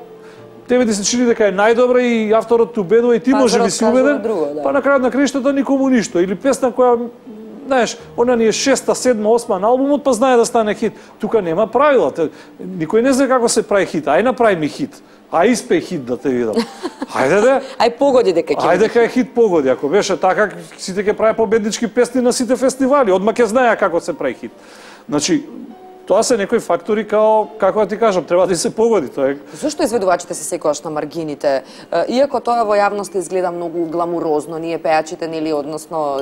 тебе ти се чини дека е најдобра и авторот те убедува и ти може би си убеден, друго, да. Па на крајот на краиштата никому ништо. Или песна која, знаеш, она ни е шеста, седма, осма на албумот, па знае да стане хит. Тука нема правила. Никој не знае како се прави хит. Ај направи ми хит. А испеј хит да те видам. Ајде де. Ај погоди дека ќе. Ајде кај хит погоди. Ако беше така, сите ќе прави победнички песни на сите фестивали. Одма ќе знаеа како се прави хит. Значи, тоа се некои фактори као, како да ти кажам, треба да се погоди. Тоа е... Зошто изведувачите се секогаш на маргините? Иако тоа во јавноста изгледа многу гламурозно, ние пејачите, нели, односно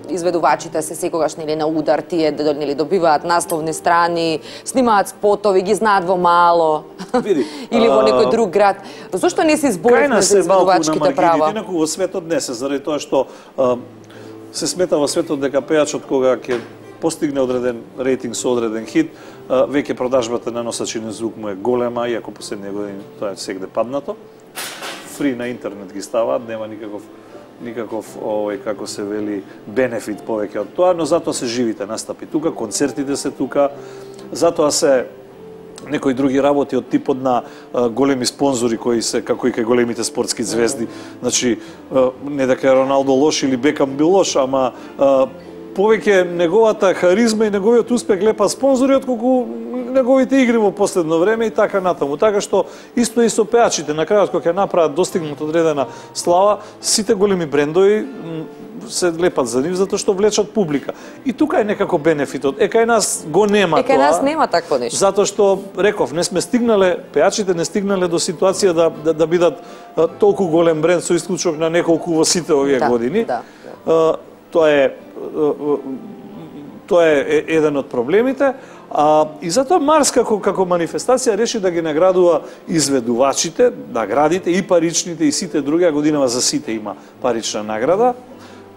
изведувачите се секогаш нели на удар, тие нели добиваат насловни страни, снимаат спотови, ги знаат во мало. Види, или во некој друг град. Зошто не се изборивме за изведувачките права? Инаку во светот не се, заради тоа што а, се смета во светот дека пејачот кога ќе постигне одреден рейтинг со одреден хит, веќе продажбата на носачи на звук му е голема, иако последните години тоа е сегде паднато. Фри на интернет ги ставаат, нема никаков никаков овој како се вели бенефит повеќе од тоа, но затоа се живите настапи тука, концертите се тука, затоа се некои други работи од типот на а, големи спонзори кои се како и кај големите спортски звезди. Значи а, не дека е Роналдо лош или Бекам бил лош, ама а, повеќе неговата харизма и неговиот успех лепа спонзори отколку неговите игри во последно време и така натаму. Така што исто и со пејачите, на крајот кога ќе направат достигнат одредена слава, сите големи брендови се лепат за нив затоа што влечат публика. И тука е некако бенефитот. Е кај нас го нема е, тоа. Е кај нас нема такво нешто. Затоа што реков, не сме стигнале, пејачите не стигнале до ситуација да да, да бидат а, толку голем бренд со исклучок на неколку во сите овие да, години. Да, да. А, тоа е тоа е еден од проблемите, а, и затоа Марс како, како манифестација реши да ги наградува изведувачите, наградите и паричните и сите други, а годинава за сите има парична награда,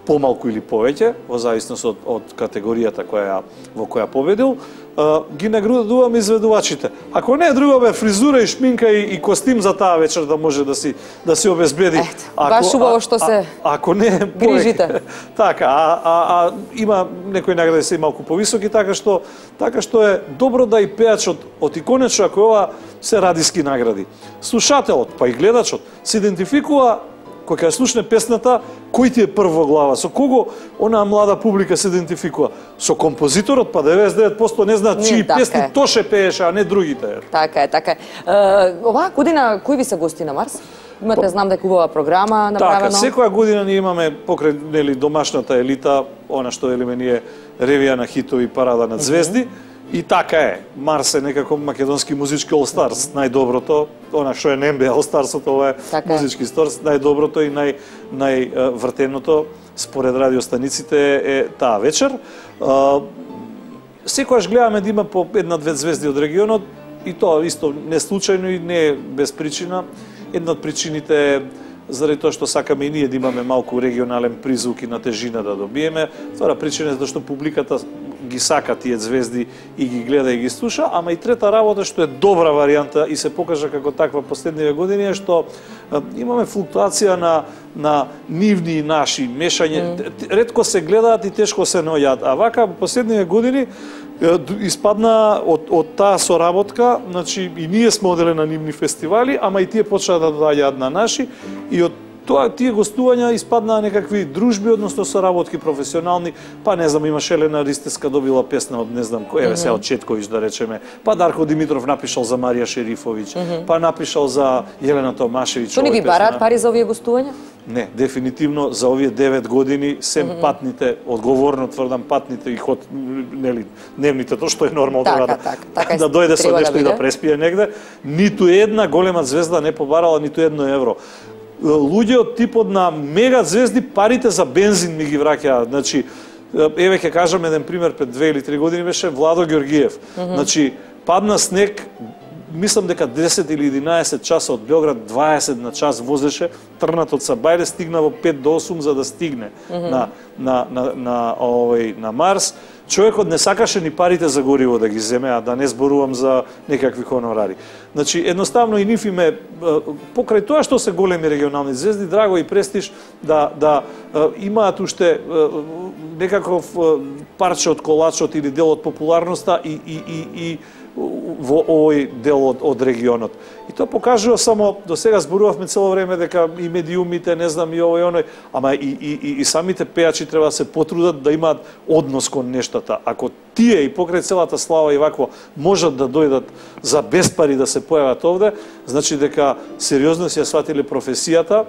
помалку или повеќе, во зависност од, од категоријата која, во која победил, а, ги наградуваме изведувачите. Ако не друго бе фризура и шминка и, и костим за таа вечер да може да си да си обезбеди. Ето, баш убаво што се а, ако не грижите. Така, а, а, а има некои награди се и малку повисоки, така што така што е добро да и пејачот од и конечно ако ова се радиски награди. Слушателот, па и гледачот се идентификува кој ќе слушне песната, кој ти е прв во глава, со кого онаа млада публика се идентификува? Со композиторот, па деветдесет и девет проценти не знаат чии така песни е. Тоше пееше, а не другите. Така е, така е. Е оваа година кои ви се гости на Марс? Имате, знам дека убава програма направено. Така, секоја година ние имаме покрај нели домашната елита, она што велиме ние ревија на хитови, парада на звезди. Mm -hmm. И така е. Марс е некако македонски музички All Stars, најдоброто, она што е Нембе All Stars, ова е така музички Stars, најдоброто и нај највртеното според радиостаниците е таа вечер. Секогаш гледаме да има по една-две звезди од регионот и тоа исто не случајно и не е без причина. Една од причините е заради тоа што сакаме и ние да имаме малку регионален призвук и на тежина да добиеме. Втора причина е зашто публиката ги сака тие звезди и ги гледа и ги слуша, ама и трета работа што е добра варијанта и се покажа како таква последниве години е што имаме флуктуација на на нивни и наши мешање. Mm. Ретко се гледаат и тешко се наоѓаат, а вака последниве години испадна од, од таа соработка, значи и ние сме оделе на нивни фестивали, ама и тие почнаа да доаѓаат на наши и од тоа тие гостувања испаднаа некакви дружби, односно соработки професионални, па не знам, имаше Елена Ристеска добила песна од не знам кој, еве се од Четковиќ да речеме, па Дарко Димитров напишал за Марија Шерифовиќ, mm -hmm. па напишал за Јелена Томашевиќ. Што не ви бараат пари за овие гостувања? Не, дефинитивно за овие девет години сем mm -hmm. патните, одговорно тврдам патните и ход нели дневните, тоа што е нормално така, да, така, така, да дојде со нешто да и да преспие негде, ниту една голема звезда не побарала ниту едно евро. Луѓе од типот на мега звезди парите за бензин ми ги враќаат. Значи, еве ќе кажам еден пример, пред две или три години беше Владо Ѓоргиев. Mm -hmm. Значи, падна снег, мислам дека десет или единаесет часа од Белград, дваесет на час возеше, трнат од Сабајле, стигна во пет до осум за да стигне mm -hmm. на на на на овој на Марс. Човекот не сакаше ни парите за гориво да ги земе, а да не зборувам за некакви хонорари. Значи, едноставно и нив име, покрај тоа што се големи регионални звезди, драго и престиж да, да имаат уште некаков парче од колачот или дел од популарноста и, и, и, и во овој дел од, од регионот. И тоа покажува само, до сега зборувавме цело време дека и медиумите, не знам, и овој и оној, ама и, и, и, и самите пејачи треба да се потрудат да имаат однос кон нештата. Ако тие и покрај целата слава и вакво можат да дојдат за без пари да се појават овде, значи дека сериозно си ја сватиле професијата.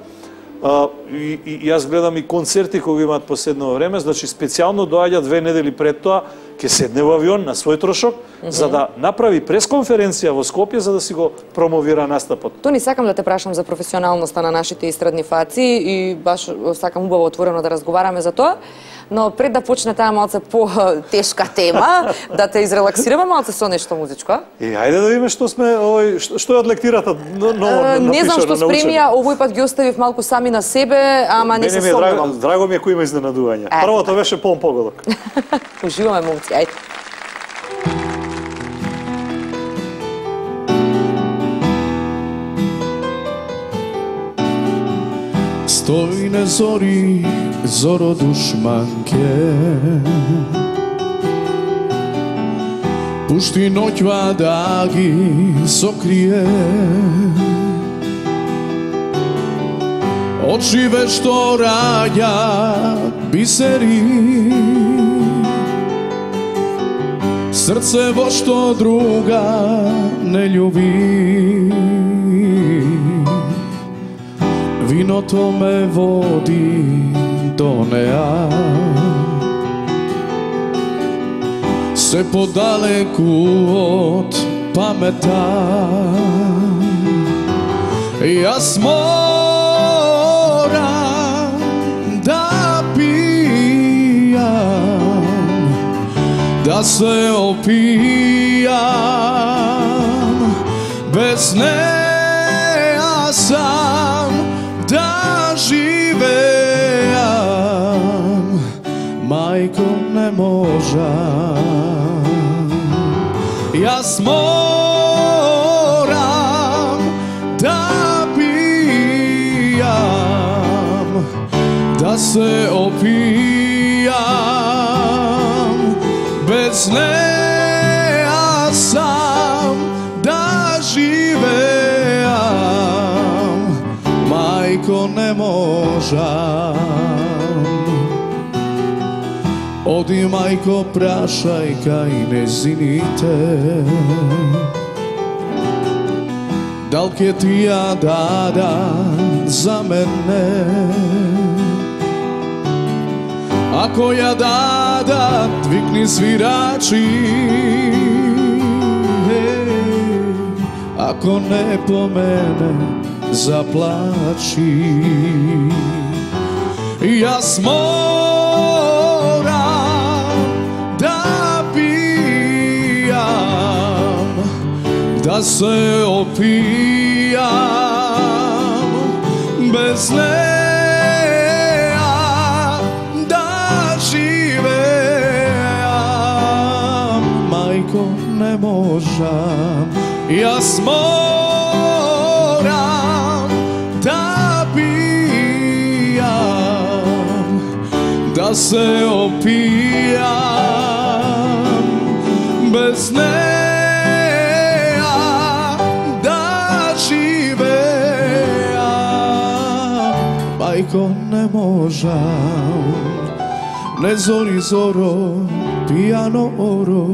Uh, и, и, и јас гледам и концерти кои имаат последно време, значи специјално доаѓа две недели пред тоа, ќе седне во авион на свој трошок, mm -hmm. за да направи пресконференција во Скопје за да си го промовира настапот. Тони, сакам да те прашам за професионалноста на нашите истрадни фаци и баш сакам убаво отворено да разговараме за тоа. Но пред да почне таа малце по-тешка тема, да те изрелаксираме малце со нешто музичко. И ајде да видиме што сме овој што е од лектирата ново напишано. Не знам што спремија, овој пат ги оставив малку сами на себе, ама не се сомневам. Драго, драго ми е кој има изненадување. Првото беше полн погодок. Уживаме, момци, ајде. Стој на зори, зоро душманке, пушти ноќва да ги сокрие. Очи вешто раѓа бисери, срце во што друга не љуби. Виното ме води до неа, се подалеку од памета. Јас морам да пијам, да се опијам, без неа сам да живеам, мајко не можам. Јас морам да пијам, да се опијам, без неа сам да живеам, мајко не можам. Оди, мајко, прашај кај незините, дал ке ти ја дадат за мене? Ако ја дадат, викни свирачи, ако не по мене, заплачи. Јас морам да пијам, да се опијам, без неа да живеам. Мајко, не можам, јас морам да пијам, да се опијам, без неа да живеам. Мајко, не можам, не зори зоро, пијано оро,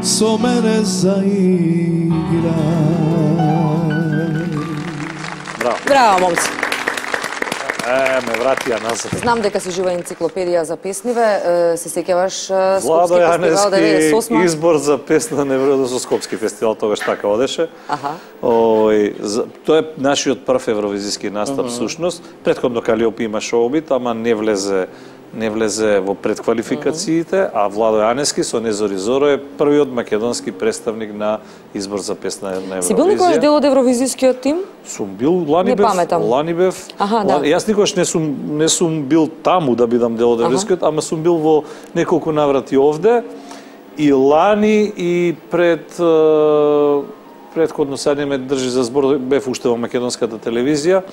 со мене заиграј. Браво. Браво, момци. Е, ме вратија назад. Знам дека си жива енциклопедија за песниве. Е, Се сеќаваш е, Владо Скопски фестивал деветдесет и осма? Јаневски избор за песна на Евровизија, Скопски фестивал, тогаш така одеше. Аха. Ој, за- Тоа е нашиот прв евровизиски настап, всушност. Претходно Калиопи имаше обид, ама не влезе не влезе во предквалификациите, а Владо Јаневски со Незори Зоро е првиот македонски представник на избор за песна на Евровизија. Си бил некојаш дел од евровизискиот тим? Сум бил, лани Не бев, паметам. лани бев. Аха, да. Лани- Јас никош не сум не сум бил таму да бидам дел од евровизискиот, ама сум бил во неколку наврати овде и лани и пред е, предходно сега не ме држи за збор, бев уште во македонската телевизија, е,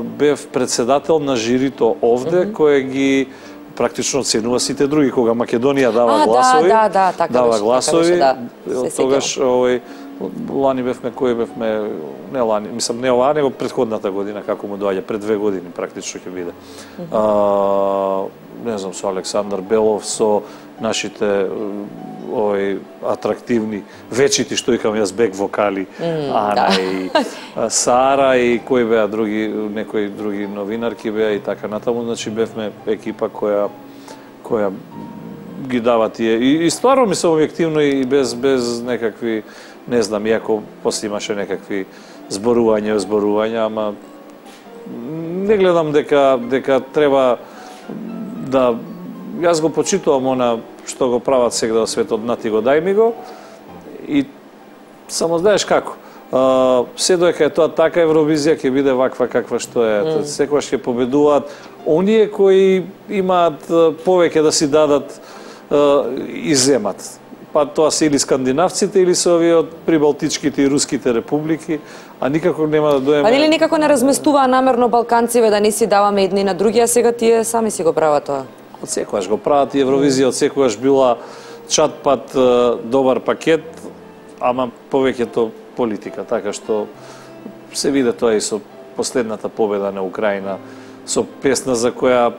бев председател на жирито овде, кој ги практично оценува сите други, кога Македонија дава А, да, гласови, да, да, така дава беше, така гласови, беше, да. Се тогаш овој лани бевме, кој бевме, не лани, мислам не ова, него предходната година, како му доаѓа, пред две години практично ќе биде. А, не знам, со Александар Белов, со нашите овој атрактивни вечити, што викам јас, бек вокали, Ана да. и а, Сара и кои беа други, некои други новинарки беа и така натаму, значи бевме екипа која која ги дава тие и, и стварно мислам објективно и без без некакви, не знам, иако после имаше некакви зборувања, зборувања, ама не гледам дека дека треба да јас го почитувам она што го прават сега во светот, нати го дај ми го и само знаеш како. Uh, се доека е тоа така, Евровизија ќе биде ваква каква што е. Mm. Секогаш ќе победуваат оние кои имаат uh, повеќе да си дадат uh, и земат. Па тоа се или скандинавците или се овие од прибалтичките и руските републики, а никако нема да доеме. Па нели никако не разместуваа намерно балканциве да не си даваме едни на други, а сега тие сами си го прават тоа. Од секогаш го прават и Евровизија од секогаш била чат-пат добар пакет, ама повеќето политика, така што се виде тоа и со последната победа на Украина, со песна за која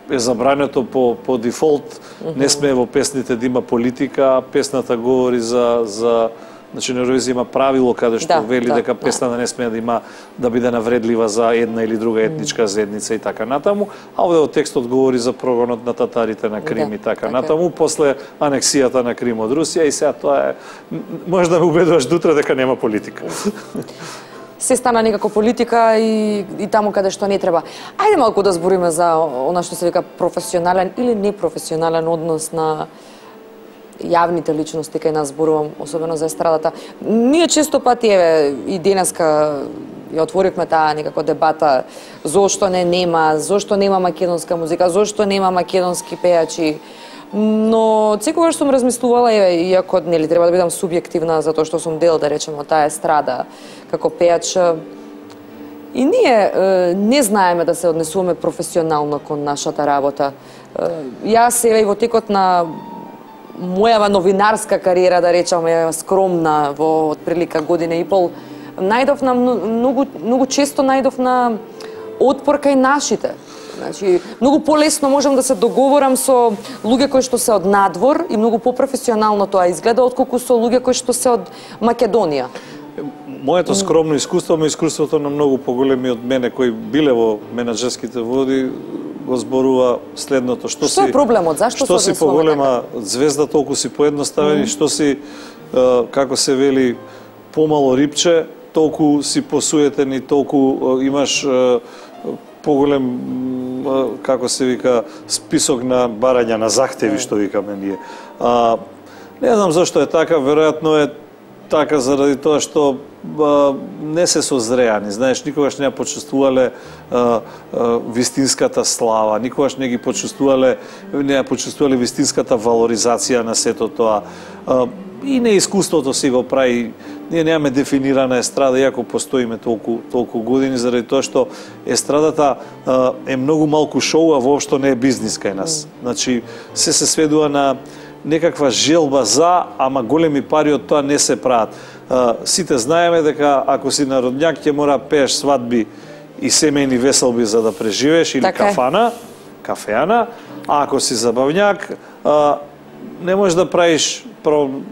е забрането по по дефолт, не сме во песните да има политика, а песната говори за за значи на Евровизија има правило каде што Да, вели да, дека песната не сме да има да биде навредлива за една или друга етничка заедница и така натаму, а овде во текстот говори за прогонот на татарите на Крим Да, и така така е. натаму после анексијата на Крим од Русија и сега тоа е може да ме убедуваш дутре дека нема политика. Се стана некако политика и, и таму каде што не треба. Ајде малку да збориме за она што се вика професионален или непрофесионален однос на јавните личности кај нас, зборувам особено за естрадата. Ние често пати, еве, и денеска ја отворивме таа некако дебата зошто не нема, зошто нема македонска музика, зошто нема македонски пејачи. Но секогаш сум размислувала, еве, иако нели треба да бидам субјективна затоа што сум дел, да речеме, од таа естрада како пејач, и ние е, не знаеме да се однесуваме професионално кон нашата работа. Е, јас еве и во текот на мојава новинарска кариера, да речеме, скромна во отприлика година и пол, најдов на многу многу често најдов на отпор кај нашите. Значи, многу полесно можам да се договорам со луѓе кои што се од надвор и многу попрофесионално тоа изгледа отколку со луѓе кои што се од Македонија. моето скромно искуство, ме искуството на многу поголеми од мене кои биле во менаџерските води, го зборува следното. Што, што е проблемот? Зашто што си поголема звезда, толку си поедноставен, mm. што си, како се вели, помало рипче, толку си посуетен и толку имаш поголем, како се вика, список на барања, на захтеви, што викаме ние. А, не знам зашто е така, веројатно е така заради тоа што а, не се созреани. Знаеш, никогаш не ја почувствувале а, а, вистинската слава, никогаш не ги почувствувале, не ја почувствувале вистинската валоризација на сето тоа. А, и неискуството си го прави. Ние немаме дефинирана естрада, иако постоиме толку, толку години, заради тоа што естрадата а, е многу малку шоу, а воопшто не е бизнис кај нас. Значи, се се сведува на некаква желба за, ама големи пари од тоа не се прават. А, сите знаеме дека ако си народњак ќе мора пееш свадби и семејни веселби за да преживееш, или така кафана, кафеана, а ако си забавњак, а, не можеш да правиш,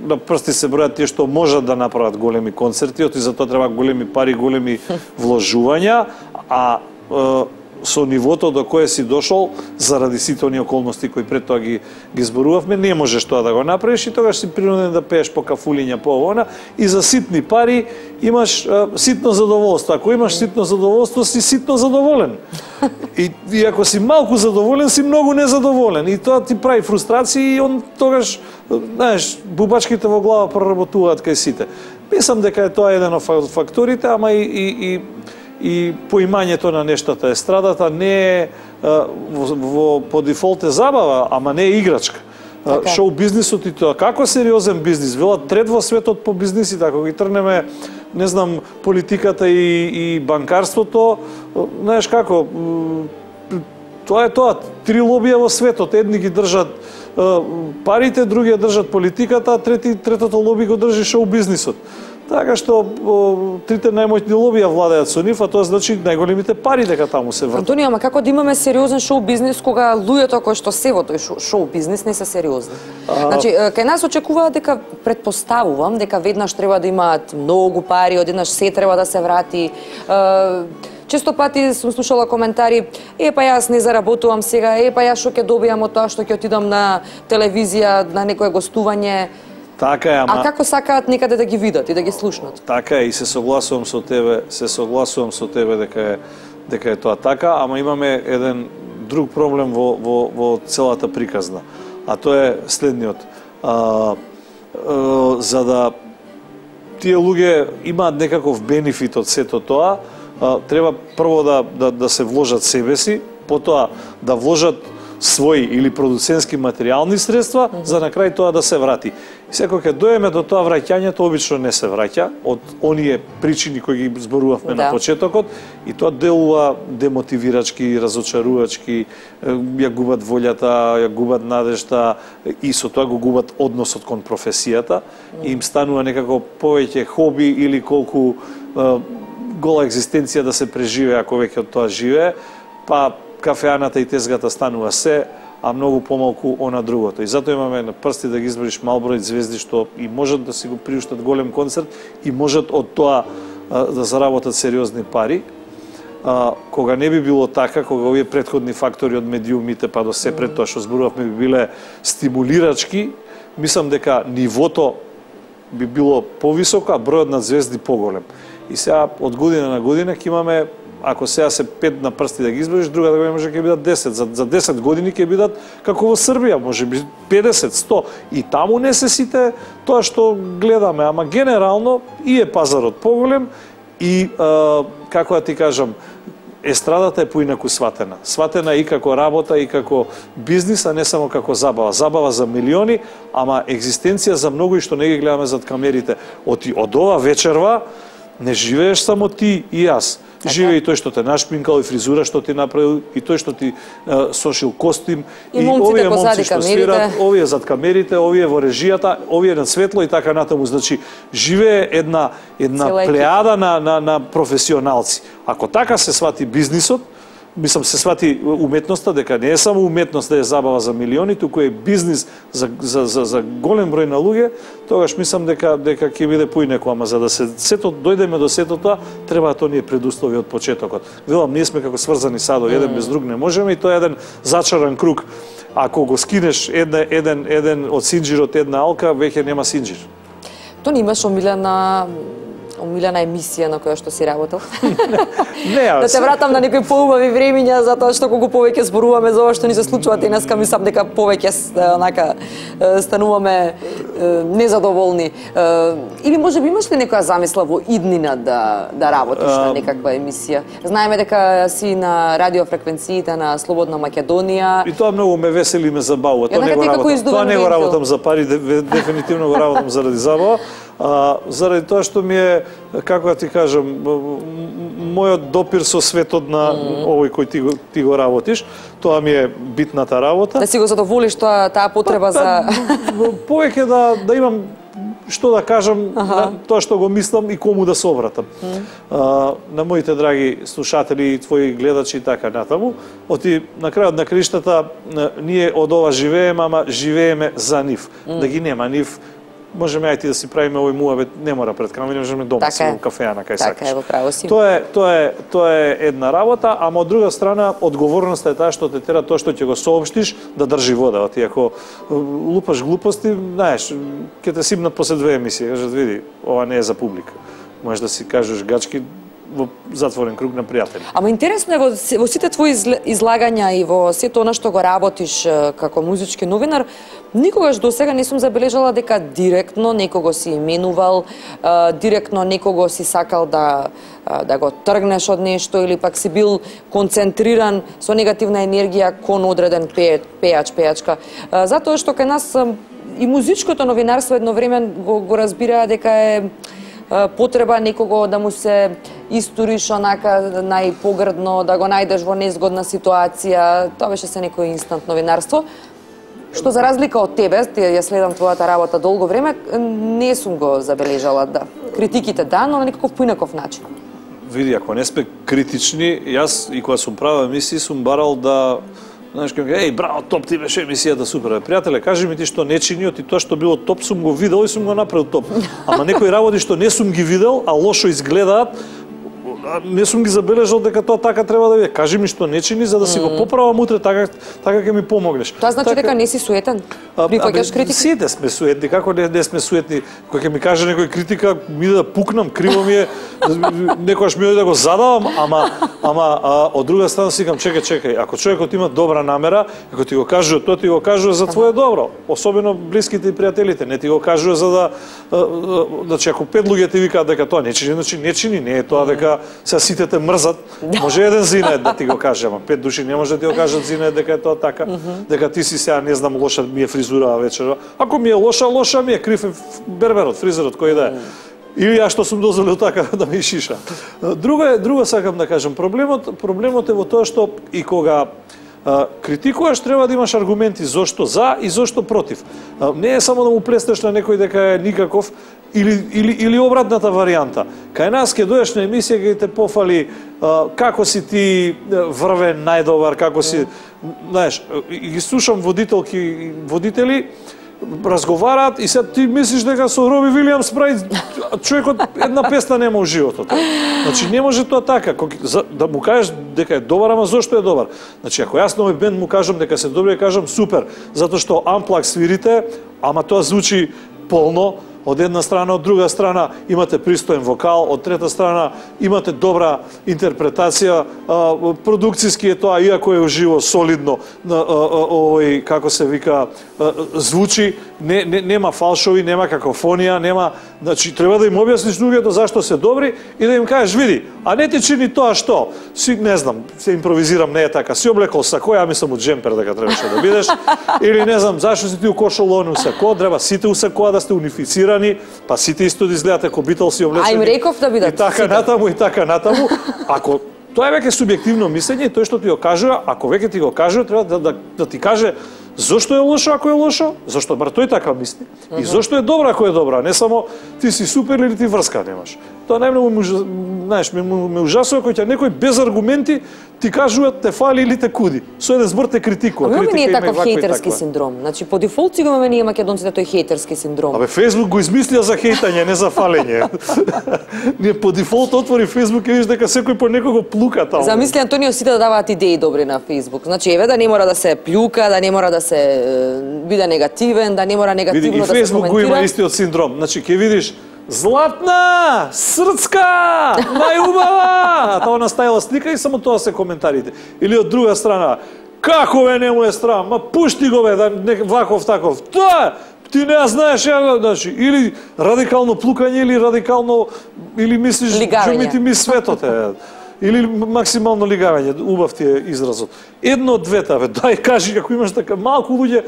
на прсти се бројат тие што можат да направат големи концерти, оти за тоа треба големи пари, големи вложувања, а а со нивото до кое си дошол, заради сите оние околности кои пред тоа ги, ги зборувавме, не можеш тоа да го направиш и тогаш си принуден да пееш по кафулиња, по овона, и за ситни пари имаш а, ситно задоволство. Ако имаш ситно задоволство, си ситно задоволен. И, и ако си малку задоволен, си многу незадоволен. И тоа ти прави фрустрации и он тогаш, знаеш, бубачките во глава проработуваат кај сите. Мислам дека е тоа еден од факторите, ама и, и, и и поимањето на нештата. Естрадата не е во, во по дефолт е забава, ама не е играчка. Така. Шоу бизнисот и тоа како сериозен бизнис, велат трет во светот по бизнисите, ако ги трнеме, не знам, политиката и, и банкарството, знаеш како, тоа е тоа, три лобија во светот, едни ги држат парите, другија држат политиката, трети, третото лоби го држи шоу бизнисот. Така што о, трите најмоćни лобија владеат со нив, а тоа значи најголемите пари дека таму се вртат. Антонио, ама како да имаме сериозен шоу бизнис кога луѓето кои што се во тој шоу бизнис не се сериозни? А... Значи, кај нас очекуваат дека, предпоставувам, дека веднаш треба да имаат многу пари, одеднаш се треба да се врати. Често пати сум слушала коментари, е па јас не заработувам сега, е па јас што ќе добијам од тоа што ќе отидам на телевизија, на некое гостување. Така е, ама... А како сакаат некаде да ги видат и да ги слушнат? Така е, и се согласувам со тебе, се согласувам со тебе дека е дека е тоа така, ама имаме еден друг проблем во во во целата приказна. А тоа е следниот. А, а, за да тие луѓе имаат некаков бенефит од сето тоа, а, треба прво да, да да се вложат себе си, потоа да вложат своји или продуцентски материјални средства, mm -hmm. за на крај тоа да се врати. И секој ќе доеме до тоа враќањето, обично не се враќа, од оние причини кои ги зборувавме да. на почетокот, и тоа делува демотивирачки, разочарувачки, ја губат волјата, ја губат надежта, и со тоа го губат односот кон професијата, mm -hmm. и им станува некако повеќе хоби или колку е, гола екзистенција да се преживее ако веќе од тоа живее, па кафеаната и тезгата станува се, а многу помалку она другото. И затоа имаме на прсти да ги избориш мал број звезди што и можат да си го приуштат голем концерт и можат од тоа а, да заработат сериозни пари. А, кога не би било така, кога овие претходни фактори од медиумите па до се пред тоа што зборувавме би биле стимулирачки, мислам дека нивото би било повисоко, а бројот на звезди поголем. И сега од година на година ќе имаме, ако сега се пет на прсти да ги избориш, друга да може ќе бидат десет. За, за десет години ќе бидат како во Србија, може би педесет, сто. И таму не се сите тоа што гледаме, ама генерално и е пазарот поголем и, е, како да ти кажам, естрадата е поинаку сватена. Сватена и како работа, и како бизнис, а не само како забава. Забава за милиони, ама екзистенција за многу и што не ги гледаме зад камерите. Оти од ова вечерва не живееш само ти и јас. Живее и тој што те нашпинкал, и фризура што ти направил, и тој што ти е, сошил костим, и, и овие момци што свират, овие зад камерите, овие во режијата, овие на светло и така натаму. Значи, живее една една плејада на, на, на професионалци. Ако така се свати бизнисот, мислам се свати уметноста дека не е само уметност да е забава за милиони, туку е бизнис за за за, за голем број на луѓе, тогаш мислам дека дека ќе биде поинеко, ама за да се сето дојдеме до сето тоа, треба тоа ние предуслови од почетокот. Велам, ние сме како сврзани садови, еден без друг не можеме и тоа е еден зачаран круг. Ако го скинеш една, еден еден од синџирот една алка, веќе нема синџир. Тоа не имаш омилена омилена емисија на која што си работел? Не, да те вратам на некои поубави времиња, затоа што колку повеќе зборуваме за ова што ни се случува денеска, мислам дека повеќе онака стануваме незадоволни. Или можеби имаш ли некоја замисла во иднина да да работиш на некаква емисија? Знаеме дека си на радиофреквенциите на Слободна Македонија. И тоа многу ме весели и ме забавува. Тоа не го работам. Тоа не го работам за пари, дефинитивно го работам заради забава. А, заради тоа што ми е, како да ти кажам, мојот допир со светот на mm. овој кој ти го, ти го работиш, тоа ми е битната работа. Да си го задоволиш тоа, таа потреба па, за... Повеќе да, да имам што да кажам, ага. тоа што го мислам и кому да се обратам. Mm. А, на моите драги слушатели, твои гледачи и така натаму, оти на крајот на криштата ние од ова живееме, ама живееме за нив. Mm. Да ги нема нив, можеме ајти да си правиме овој муавет, не мора пред камера, можеме дома така си во кафеана кај така сакаш. Е, право си. Тоа е, тоа е, тоа е една работа, ама од друга страна одговорноста е таа што те тера тоа што ќе го соопштиш да држи вода. Ти ако лупаш глупости, знаеш, ќе те сипнат после две емисии, кажат види, ова не е за публика. Можеш да си кажеш гачки во затворен круг на пријатели. Ама интересно е во, во сите твои излагања и во сето она што го работиш како музички новинар, никогаш до сега не сум забележала дека директно некого си именувал, директно некого си сакал да да го тргнеш од нешто или пак си бил концентриран со негативна енергија кон одреден пејач, пејачка. Затоа што кај нас и музичкото новинарство едно време го, го разбираа дека е потреба некого да му се историш онака најпогрдно, да го најдеш во незгодна ситуација. Тоа беше се некој инстант новинарство. Што за разлика од тебе, ја следам твојата работа долго време, не сум го забележала, да. Критиките да, но на некаков поинаков начин. Види, ако не сме критични, јас и кога сум правил емисии сум барал да знаеш како, еј, браво, топ, ти беше емисијата супер. Пријателе, кажи ми ти што не чиниот и тоа што било топ сум го видел и сум го направил топ. Ама некои работи што не сум ги видел, а лошо изгледаат, не сум ги забележал дека тоа така треба да биде. Кажи ми што не чини за да си го поправам утре, така така ќе ми помогнеш. Тоа значи така, дека не си суетен? Прифаќаш критика? Сите сме суетни, како не, не сме суетни. Кога ќе ми каже некој критика, ми да пукнам, криво ми е, некогаш ми да го задавам, ама ама а, од друга страна си викам, чекај, чекај, ако човекот има добра намера, ако ти го кажува, тоа ти го кажува за твое добро, особено блиските и пријателите, не ти го кажува за да значи ако пет луѓе ти викаат дека тоа не чини, значи не чини, не е тоа дека се сите те мрзат. Може еден зинает да ти го каже, ама пет души не може да ти го кажат зинает дека е тоа така, дека ти си сега не знам лоша ми е фризура вечера. Ако ми е лоша, лоша ми е крив берберот, фризерот кој да е. Или ја што сум дозволил така да ми шиша. Друго е, друго сакам да кажам, проблемот проблемот е во тоа што и кога а, критикуваш треба да имаш аргументи зошто за и зошто против. А, не е само да му плеснеш на некој дека е никаков или или или обратната варијанта. Кај нас ќе дојдеш на емисија ќе те пофали а, како си ти врвен најдобар, како си, знаеш, и ги слушам водителки водители разговараат и се ти мислиш дека со Роби Вилијамс прави човекот една песна нема во животот. Значи не може тоа така, да му кажеш дека е добар, ама зошто е добар? Значи ако јас на овој бенд му кажам дека се добри, кажам супер, затоа што амплак свирите, ама тоа звучи полно. Од една страна, од друга страна имате пристоен вокал, од трета страна имате добра интерпретација, продукцијски е тоа, иако е уживо, солидно, овој, како се вика, звучи, не, не, нема фалшови, нема какофонија, нема, значи, треба да им објасниш луѓето зашто се добри и да им кажеш, види, а не ти чини тоа што, си, не знам, се импровизирам, не е така, си облекол сако, ја мислам од джемпер дека требаше да бидеш, или не знам, зашто си ти укошол оно сако, треба сите усакоа да сте унифицирани, па сите исто да изгледате како Битълси облечени. А им реков да бидат и така сите. натаму, и така натаму. Ако тоа е веќе субјективно мислење, тој што ти го кажува, ако веќе ти го кажува, треба да, да, да ти каже Зошто е лошо ако е лошо? Зошто бар тој така мисли? И зошто е добра ако е добра? Не само ти си супер или ти врска немаш. Тоа најмногу ме, знаеш, ме, ме ужасува кога ќе некој без аргументи ти кажуваат те фали или те куди. Со еден збор те критикува. Ама не е таков хејтерски таква. синдром. Значи по дефолт си го имаме ние македонците тој хејтерски синдром. Абе Фејсбук го измислија за хејтање, не за фалење. Ние по дефолт отвори Фејсбук и видиш дека секој по некого плука таму. Замисли Антонио сите да даваат идеи добри на Фејсбук. Значи еве да не мора да се плюка, да не мора да се биде негативен, да не мора негативно Види, да се коментира. И Фејсбук го има истиот синдром. Значи ќе видиш Златна, срцка, најубава! А тоа наставила слика и само тоа се коментарите. Или од друга страна, како бе не му е страм, ма пушти го бе, да не ваков таков. Тоа, ти не знаеш, ја, значи, или радикално плукање, или радикално, или мислиш, што ми ти ми светот е. Или максимално лигавање, убав ти е изразот. Едно од двете, бе, дај кажи, како имаш така малку луѓе,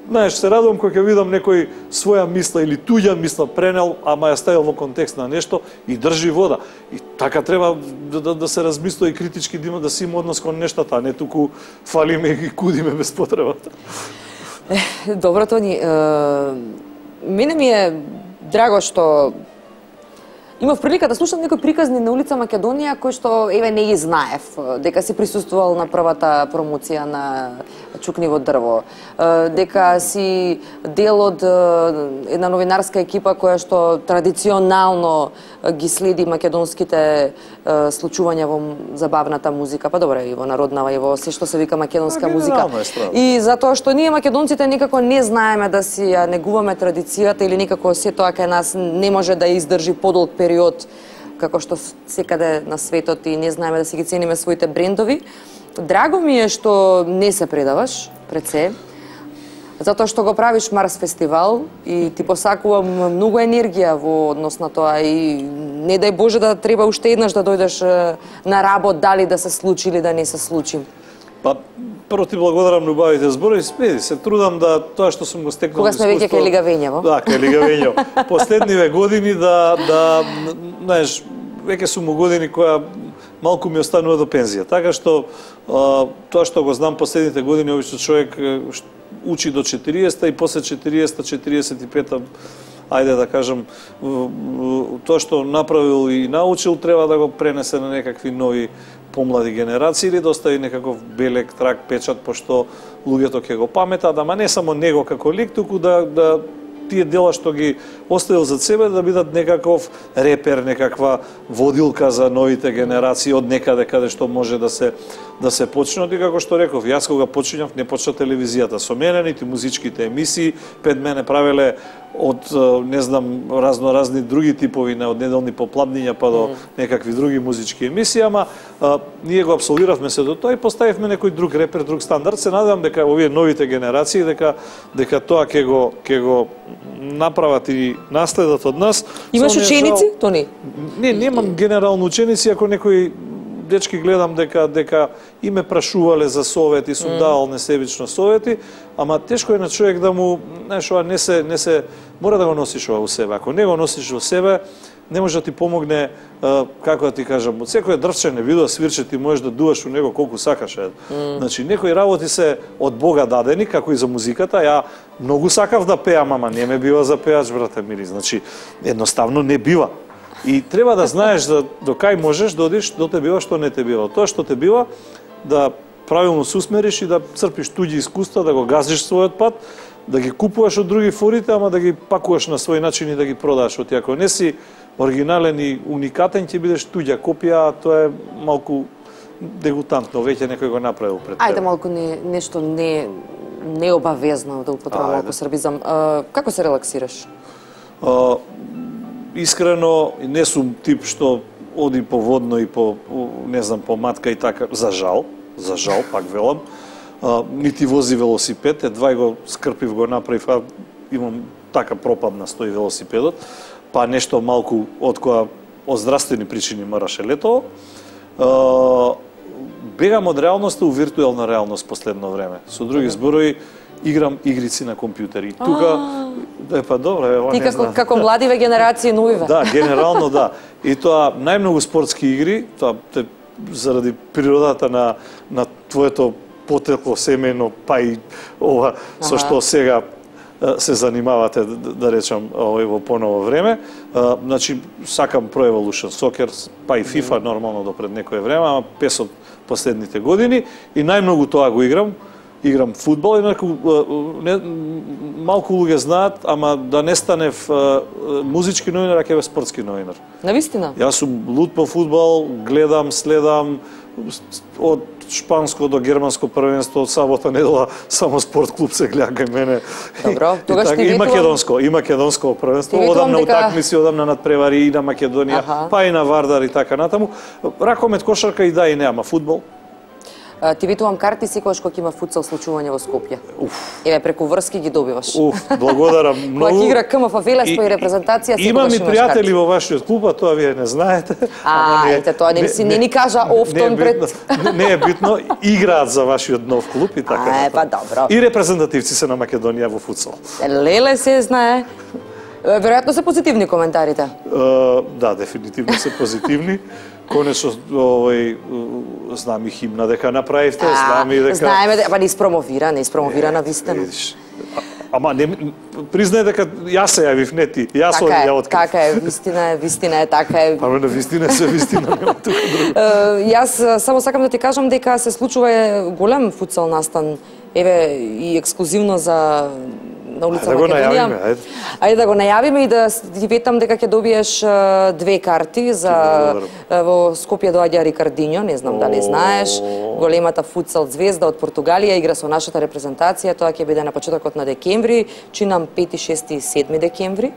знаеш, се радувам кога ќе видам некој своја мисла или туѓа мисла пренел, ама ја ставил во контекст на нешто и држи вода. И така треба да, да, да се размислува и критички да има да си има однос кон нештата, а не туку фалиме и кудиме без потребата. Добро, Тони, мене ми е драго што имав прилика да слушам некои приказни на улица Македонија кои што еве не ги знаев, дека си присуствувал на првата промоција на Чукниво дрво, дека си дел од една новинарска екипа која што традиционално ги следи македонските случувања во забавната музика, па добре и во народнава и во се што се вика македонска музика. И затоа што ние македонците некако не знаеме да си ја негуваме традицијата или некако се тоа кај нас не може да издржи подолг период како што секаде на светот и не знаеме да си ги цениме своите брендови. Драго ми е што не се предаваш пред се, затоа што го правиш Марс фестивал и ти посакувам многу енергија во однос на тоа и не дај Боже да треба уште еднаш да дојдеш на работ, дали да се случи или да не се случи. Па, прво ти благодарам на убавите зборови, спеди, се трудам да тоа што сум го стекнал. Кога сме веќе кај Лигавењево? Да, кај Лигавењево. Последниве години да, да, знаеш, веќе сум у години која малку ми останува до пензија. Така што а, тоа што го знам последните години, обично човек учи до четириесета и после четириесета четириесет и пета, ајде да кажам, тоа што направил и научил треба да го пренесе на некакви нови помлади генерации или да остави некаков белек трак, печат, пошто луѓето ќе го паметат, ама не само него како лик, туку да, да тие дела што ги оставил за себе да бидат некаков репер, некаква водилка за новите генерации од некаде каде што може да се да се почне. И како што реков, јас кога почињав не почна телевизијата со мене, нити музичките емисии, пред мене правеле од не знам разноразни други типови на од неделни попладниња па до некакви други музички емисии, ама а, ние го апсолвиравме се до тоа и поставивме некој друг репер, друг стандард. Се надевам дека овие новите генерации дека дека тоа ќе го ќе го направат и наследат од нас. Имаш ученици, Тони? Не, немам генерално ученици, ако некој дечки гледам дека дека и ме прашувале за совети, сум mm. давал несебично совети, ама тешко е на човек да му, знаеш, ова не се не се мора да го носиш ова во себе. Ако не го носиш во себе, не може да ти помогне, како да ти кажам, од секој дрвче не видува свирче, ти можеш да дуваш у него колку сакаш. Mm. Значи, некои работи се од Бога дадени, како и за музиката. Ја многу сакав да пеам, ама не ме бива за пеач, брате мили. Значи, едноставно не бива. И треба да знаеш да, до кај можеш да одиш, до те бива, што не те бива. Тоа што те бива, да правилно се усмериш и да црпиш туѓи искуства, да го газиш својот пат, да ги купуваш од други форите, ама да ги пакуваш на свој начин и да ги продаш. Оти ако не си оригинален и уникатен, ќе бидеш туѓа копија, тоа е малку дегутантно, веќе некој го направил пред тебе. Ајде малку не, нешто не необавезно да употребам малку србизам. А, како се релаксираш? А, искрено, не сум тип што оди по водно и по, не знам, по матка и така, за жал, за жал, пак велам. А, нити вози велосипед, едва го скрпив, го направив, а имам така пропадна стои велосипедот, па нешто малку од која од здравствени причини мораше лето. А, бегам од реалноста у виртуелна реалност последно време. Со други зборови, играм игрици на компјутери. Тука, е па добре, ева не знам. Ти како, како младиве генерации новиве. Да, генерално да. И тоа најмногу спортски игри, тоа те, заради природата на на твоето потекло семено, па и ова со што сега се занимавате, да речам, овој во поново време. Значи, сакам Pro Evolution Soccer, па и FIFA, нормално до пред некое време, ама пес од последните години, и најмногу тоа го играм. Играм фудбал, инаку не, малку луѓе знаат, ама да не станев музички новинар, а ќе бе спортски новинар. Навистина? Јас сум лут по фудбал, гледам, следам од шпанско до германско првенство, од сабота недела само спорт клуб се гледа кај мене. Добро, тогаш ти и ветувам... македонско, и македонско првенство, одам на дека... утакмици, одам на надпревари и на Македонија, аха, па и на Вардар и така натаму. Ракомет, кошарка и да и не, ама фудбал. Ти ветувам карти секогаш кога има футсал случување во Скопје. Уф. Еве преку врски ги добиваш. Уф, благодарам многу. Кога игра КМФ Велес по и репрезентација секогаш имам имаш и пријатели во вашиот клуб, а тоа вие не знаете. А, ете тоа не си не ни кажа офтон пред. Не е битно, играат за вашиот нов клуб и така. А, е, па добро. И репрезентативци се на Македонија во футсал. Леле се знае. Веројатно се позитивни коментарите. Да, дефинитивно се позитивни. Конечно, овој, знам и химна дека направивте, знам и дека... Знаеме, па не испромовира, не испромовира на вистина. Ама не, признај дека јас се јавив, не ти, јас така ја открив. Така е, вистина е, вистина е, така е. Па на вистина се вистина, нема тука друго. Јас само сакам да ти кажам дека се случува голем футсал настан, еве и ексклузивно за на улица ајде Македонија. Да ајде. Ајде да го најавиме и да ти ветам дека ќе добиеш две карти за во Скопје доаѓа Рикардиньо, не знам дали знаеш, големата футсал звезда од Португалија, игра со нашата репрезентација, тоа ќе биде на почетокот на декември, чинам пети, шести и седми декември.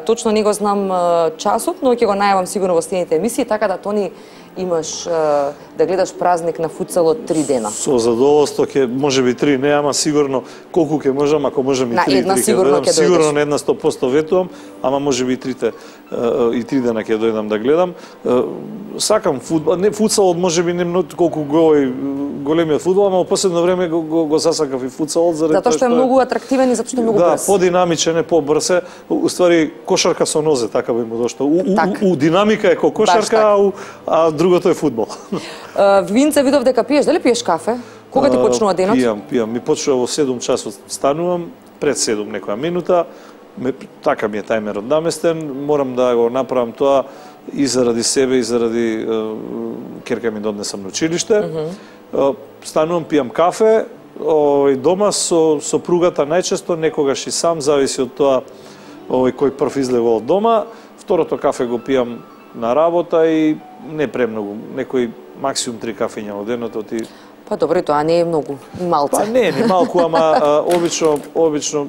Точно не го знам часот, но ќе го најавам сигурно во следните емисии, така да Тони имаш да гледаш празник на футсалот три дена. Со задоволство ќе можеби три, не, ама сигурно колку ќе можам, ако можам и на три, една три сигурно ќе дојдеш. Сигурно на една сто проценти ветувам, ама можеби и трите и три дена ќе дојдам да гледам. Сакам фудбал, не футсалот можеби не многу колку го големиот фудбал, ама во последно време го, го, го засакав и футсалот заради затоа што е многу атрактивен и затоа што е многу да, брз. Да, подинамичен е, побрз е. Уствари кошарка со нозе, така би му дошло. У, так. у, у динамика е ко кошарка, а, у, а другото е фудбал. Винце видов дека пиеш, дали пиеш кафе? Кога ти почнува денот? Пијам, пијам. Ми почнува во седум часот станувам, пред седум некоја минута. Ме, така ми е тајмерот наместен, морам да го направам тоа и заради себе и заради керка ми донесам на училиште. Mm -hmm. Станувам, пијам кафе, овој дома со сопругата најчесто, некогаш и сам, зависи од тоа овој кој прв излева од дома. Второто кафе го пијам на работа и не премногу, некој максимум три кафења во денот ти. Па добро, тоа не е многу, малце. Па не, не малку, ама а, обично, обично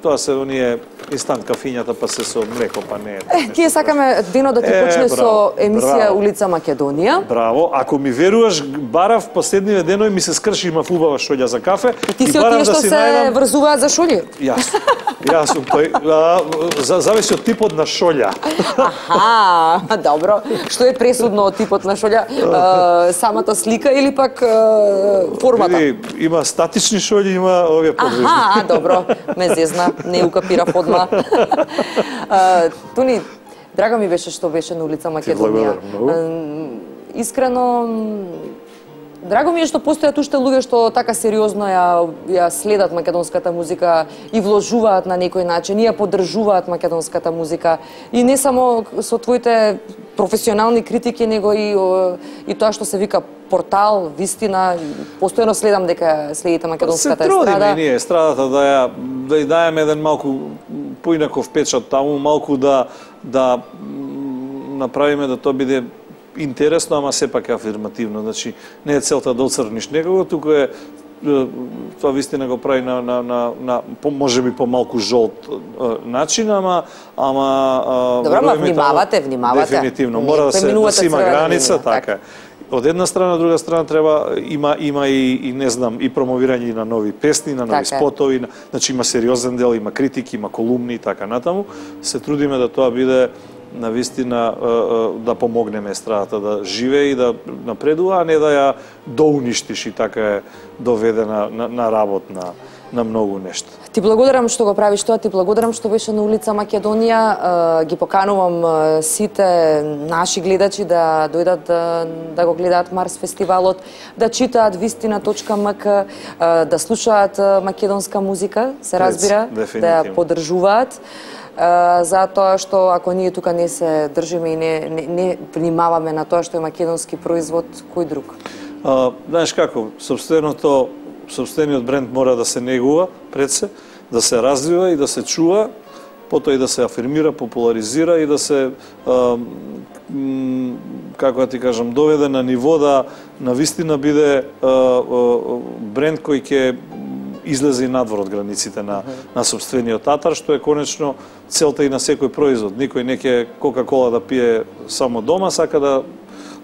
тоа се оние инстант кафињата, па се со млеко, па не е. Е, тие сакаме денот да ти е, почне браво, со емисија браво. Улица Македонија. Браво, ако ми веруваш, барав последниве денови ми се скрши, има убава шолја за кафе. И ти си од тие што да се најдам... врзуваат за шолји? Јас. Јас сум тој, а, за, зависи од типот на шолја. Аха, добро. Што е пресудно од типот на шолја? А, самата слика или пак а, формата? Види, има статични шолји, има овие подвижни. Аха, добро, ме зезна, не укапирав одма. Тони, драго ми беше што беше на улица Македонија. Искрено, драго ми е што постојат уште луѓе што така сериозно ја, ја следат македонската музика и вложуваат на некој начин, и ја поддржуваат македонската музика. И не само со твоите професионални критики, него и, и тоа што се вика портал, вистина, постојано следам дека следите македонската естрада. Се трудиме ние естрадата да ја да ја даеме еден малку поинаков печат таму, малку да да направиме да тоа биде интересно, ама сепак афирмативно. Значи, не е целта да оцрниш некого, туку е тоа вистина го прави на на на на можеби помалку жолт начин, ама ама добро, ма внимавате, внимавате. Дефинитивно мора да се да се има граница, така е. Од една страна, од друга страна треба има има и, и не знам и промовирање на нови песни, на нови така спотови, на, значи има сериозен дел, има критики, има колумни и така натаму. Се трудиме да тоа биде на вистина да помогнеме естрадата да живее и да напредува, а не да ја доуништиш и така е доведена на, на работна. на многу нешта. Ти благодарам што го правиш тоа, ти благодарам што беше на улица Македонија. Ги поканувам сите наши гледачи да дојдат да, да го гледаат Марс фестивалот, да читаат вистина точка ем ка, да слушаат македонска музика, се разбира, да ја поддржуваат. Затоа што ако ние тука не се држиме и не, не, не внимаваме на тоа што е македонски производ, кој друг? А, знаеш како, собственото, собствениот бренд мора да се негува пред се, да се развива и да се чува, потоа и да се афирмира, популаризира и да се, а, м, како да ти кажам, доведе на ниво да на вистина биде а, а, бренд кој ќе излезе и надвор од границите на, на собствениот татар, што е конечно целта и на секој производ. Никој не ќе Кока-кола да пие само дома, сака да,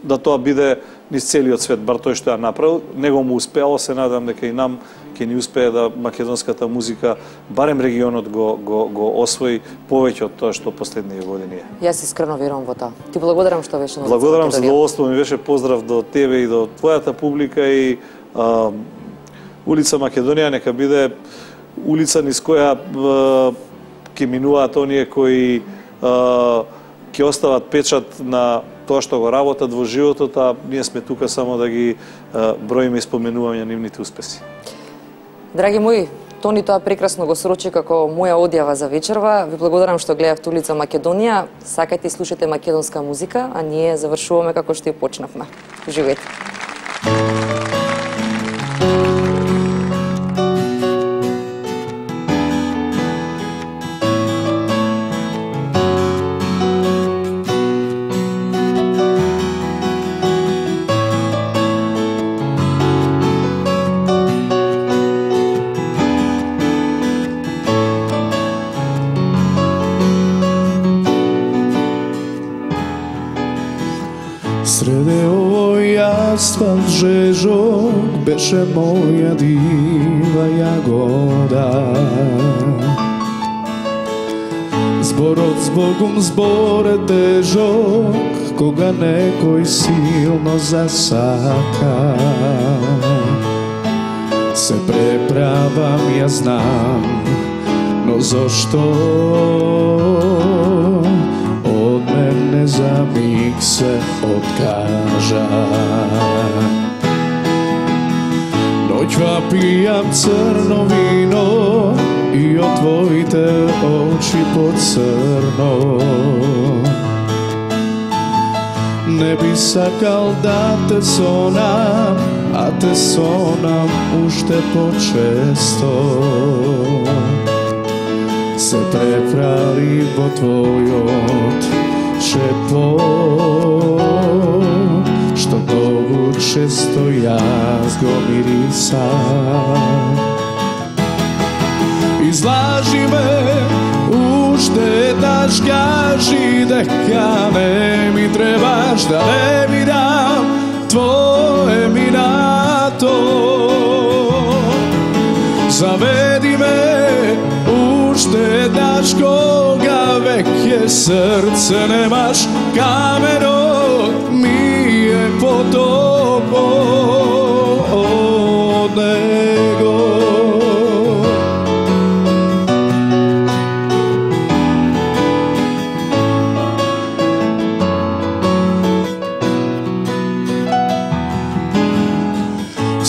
да тоа биде низ целиот свет, бар тој што ја направил. Него му успеало, се надам дека и нам ќе ни успее да македонската музика, барем регионот го, го, го освои повеќе од тоа што последниве години е. Јас искрено верувам во тоа. Ти благодарам што беше на улица Благодарам, Македонија. задоволство ми беше, поздрав до тебе и до твојата публика и а, улица Македонија нека биде улица низ која ќе минуваат оние кои а, ќе остават печат на тоа што го работат во животот, а ние сме тука само да ги а, броиме и споменуваме нивните успеси. Драги мои, Тони тоа прекрасно го срочи како моја одјава за вечерва. Ви благодарам што гледавте улица Македонија. Сакајте и слушате македонска музика, а ние завршуваме како што ја почнавме. Уживајте. Среде овој асфалт жежок беше моја дива јагода. Зборот збогум збор е тежок, кога некој силно засака. Се преправам, ја знам, но зошто од мене за миг се откажа. Ноќва пијам црно вино и од твоите очи поцрно. Не би сакал да те сонам, а те сонам уште почесто. Се преправи во твојот шепот, што многу често јас го мирисам. Излажи ме, уште еднаш кажи дека не ми требаш, да не видам твое минато. Заведи ме уште еднаш кога веќе срце немаш, каменот ми е потопо од него.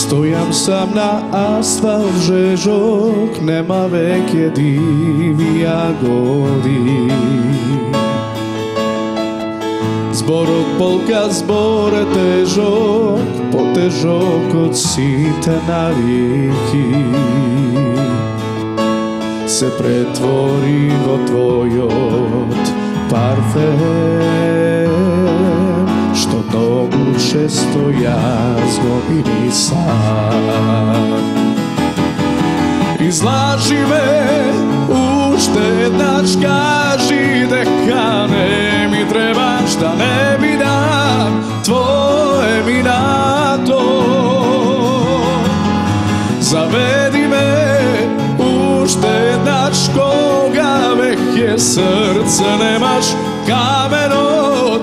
Стојам сам на асфалт жежок, нема веќе диви јагоди. Зборот полка, збор е тежок, потежок од сите навики. Се претвори во твојот парфем, што многу често јас го мирисам. Излажи ме, уште еднаш кажи дека не ми требаш, да не ми дам твое минато. Заведи ме, уште еднаш кога веќе срце немаш, каменот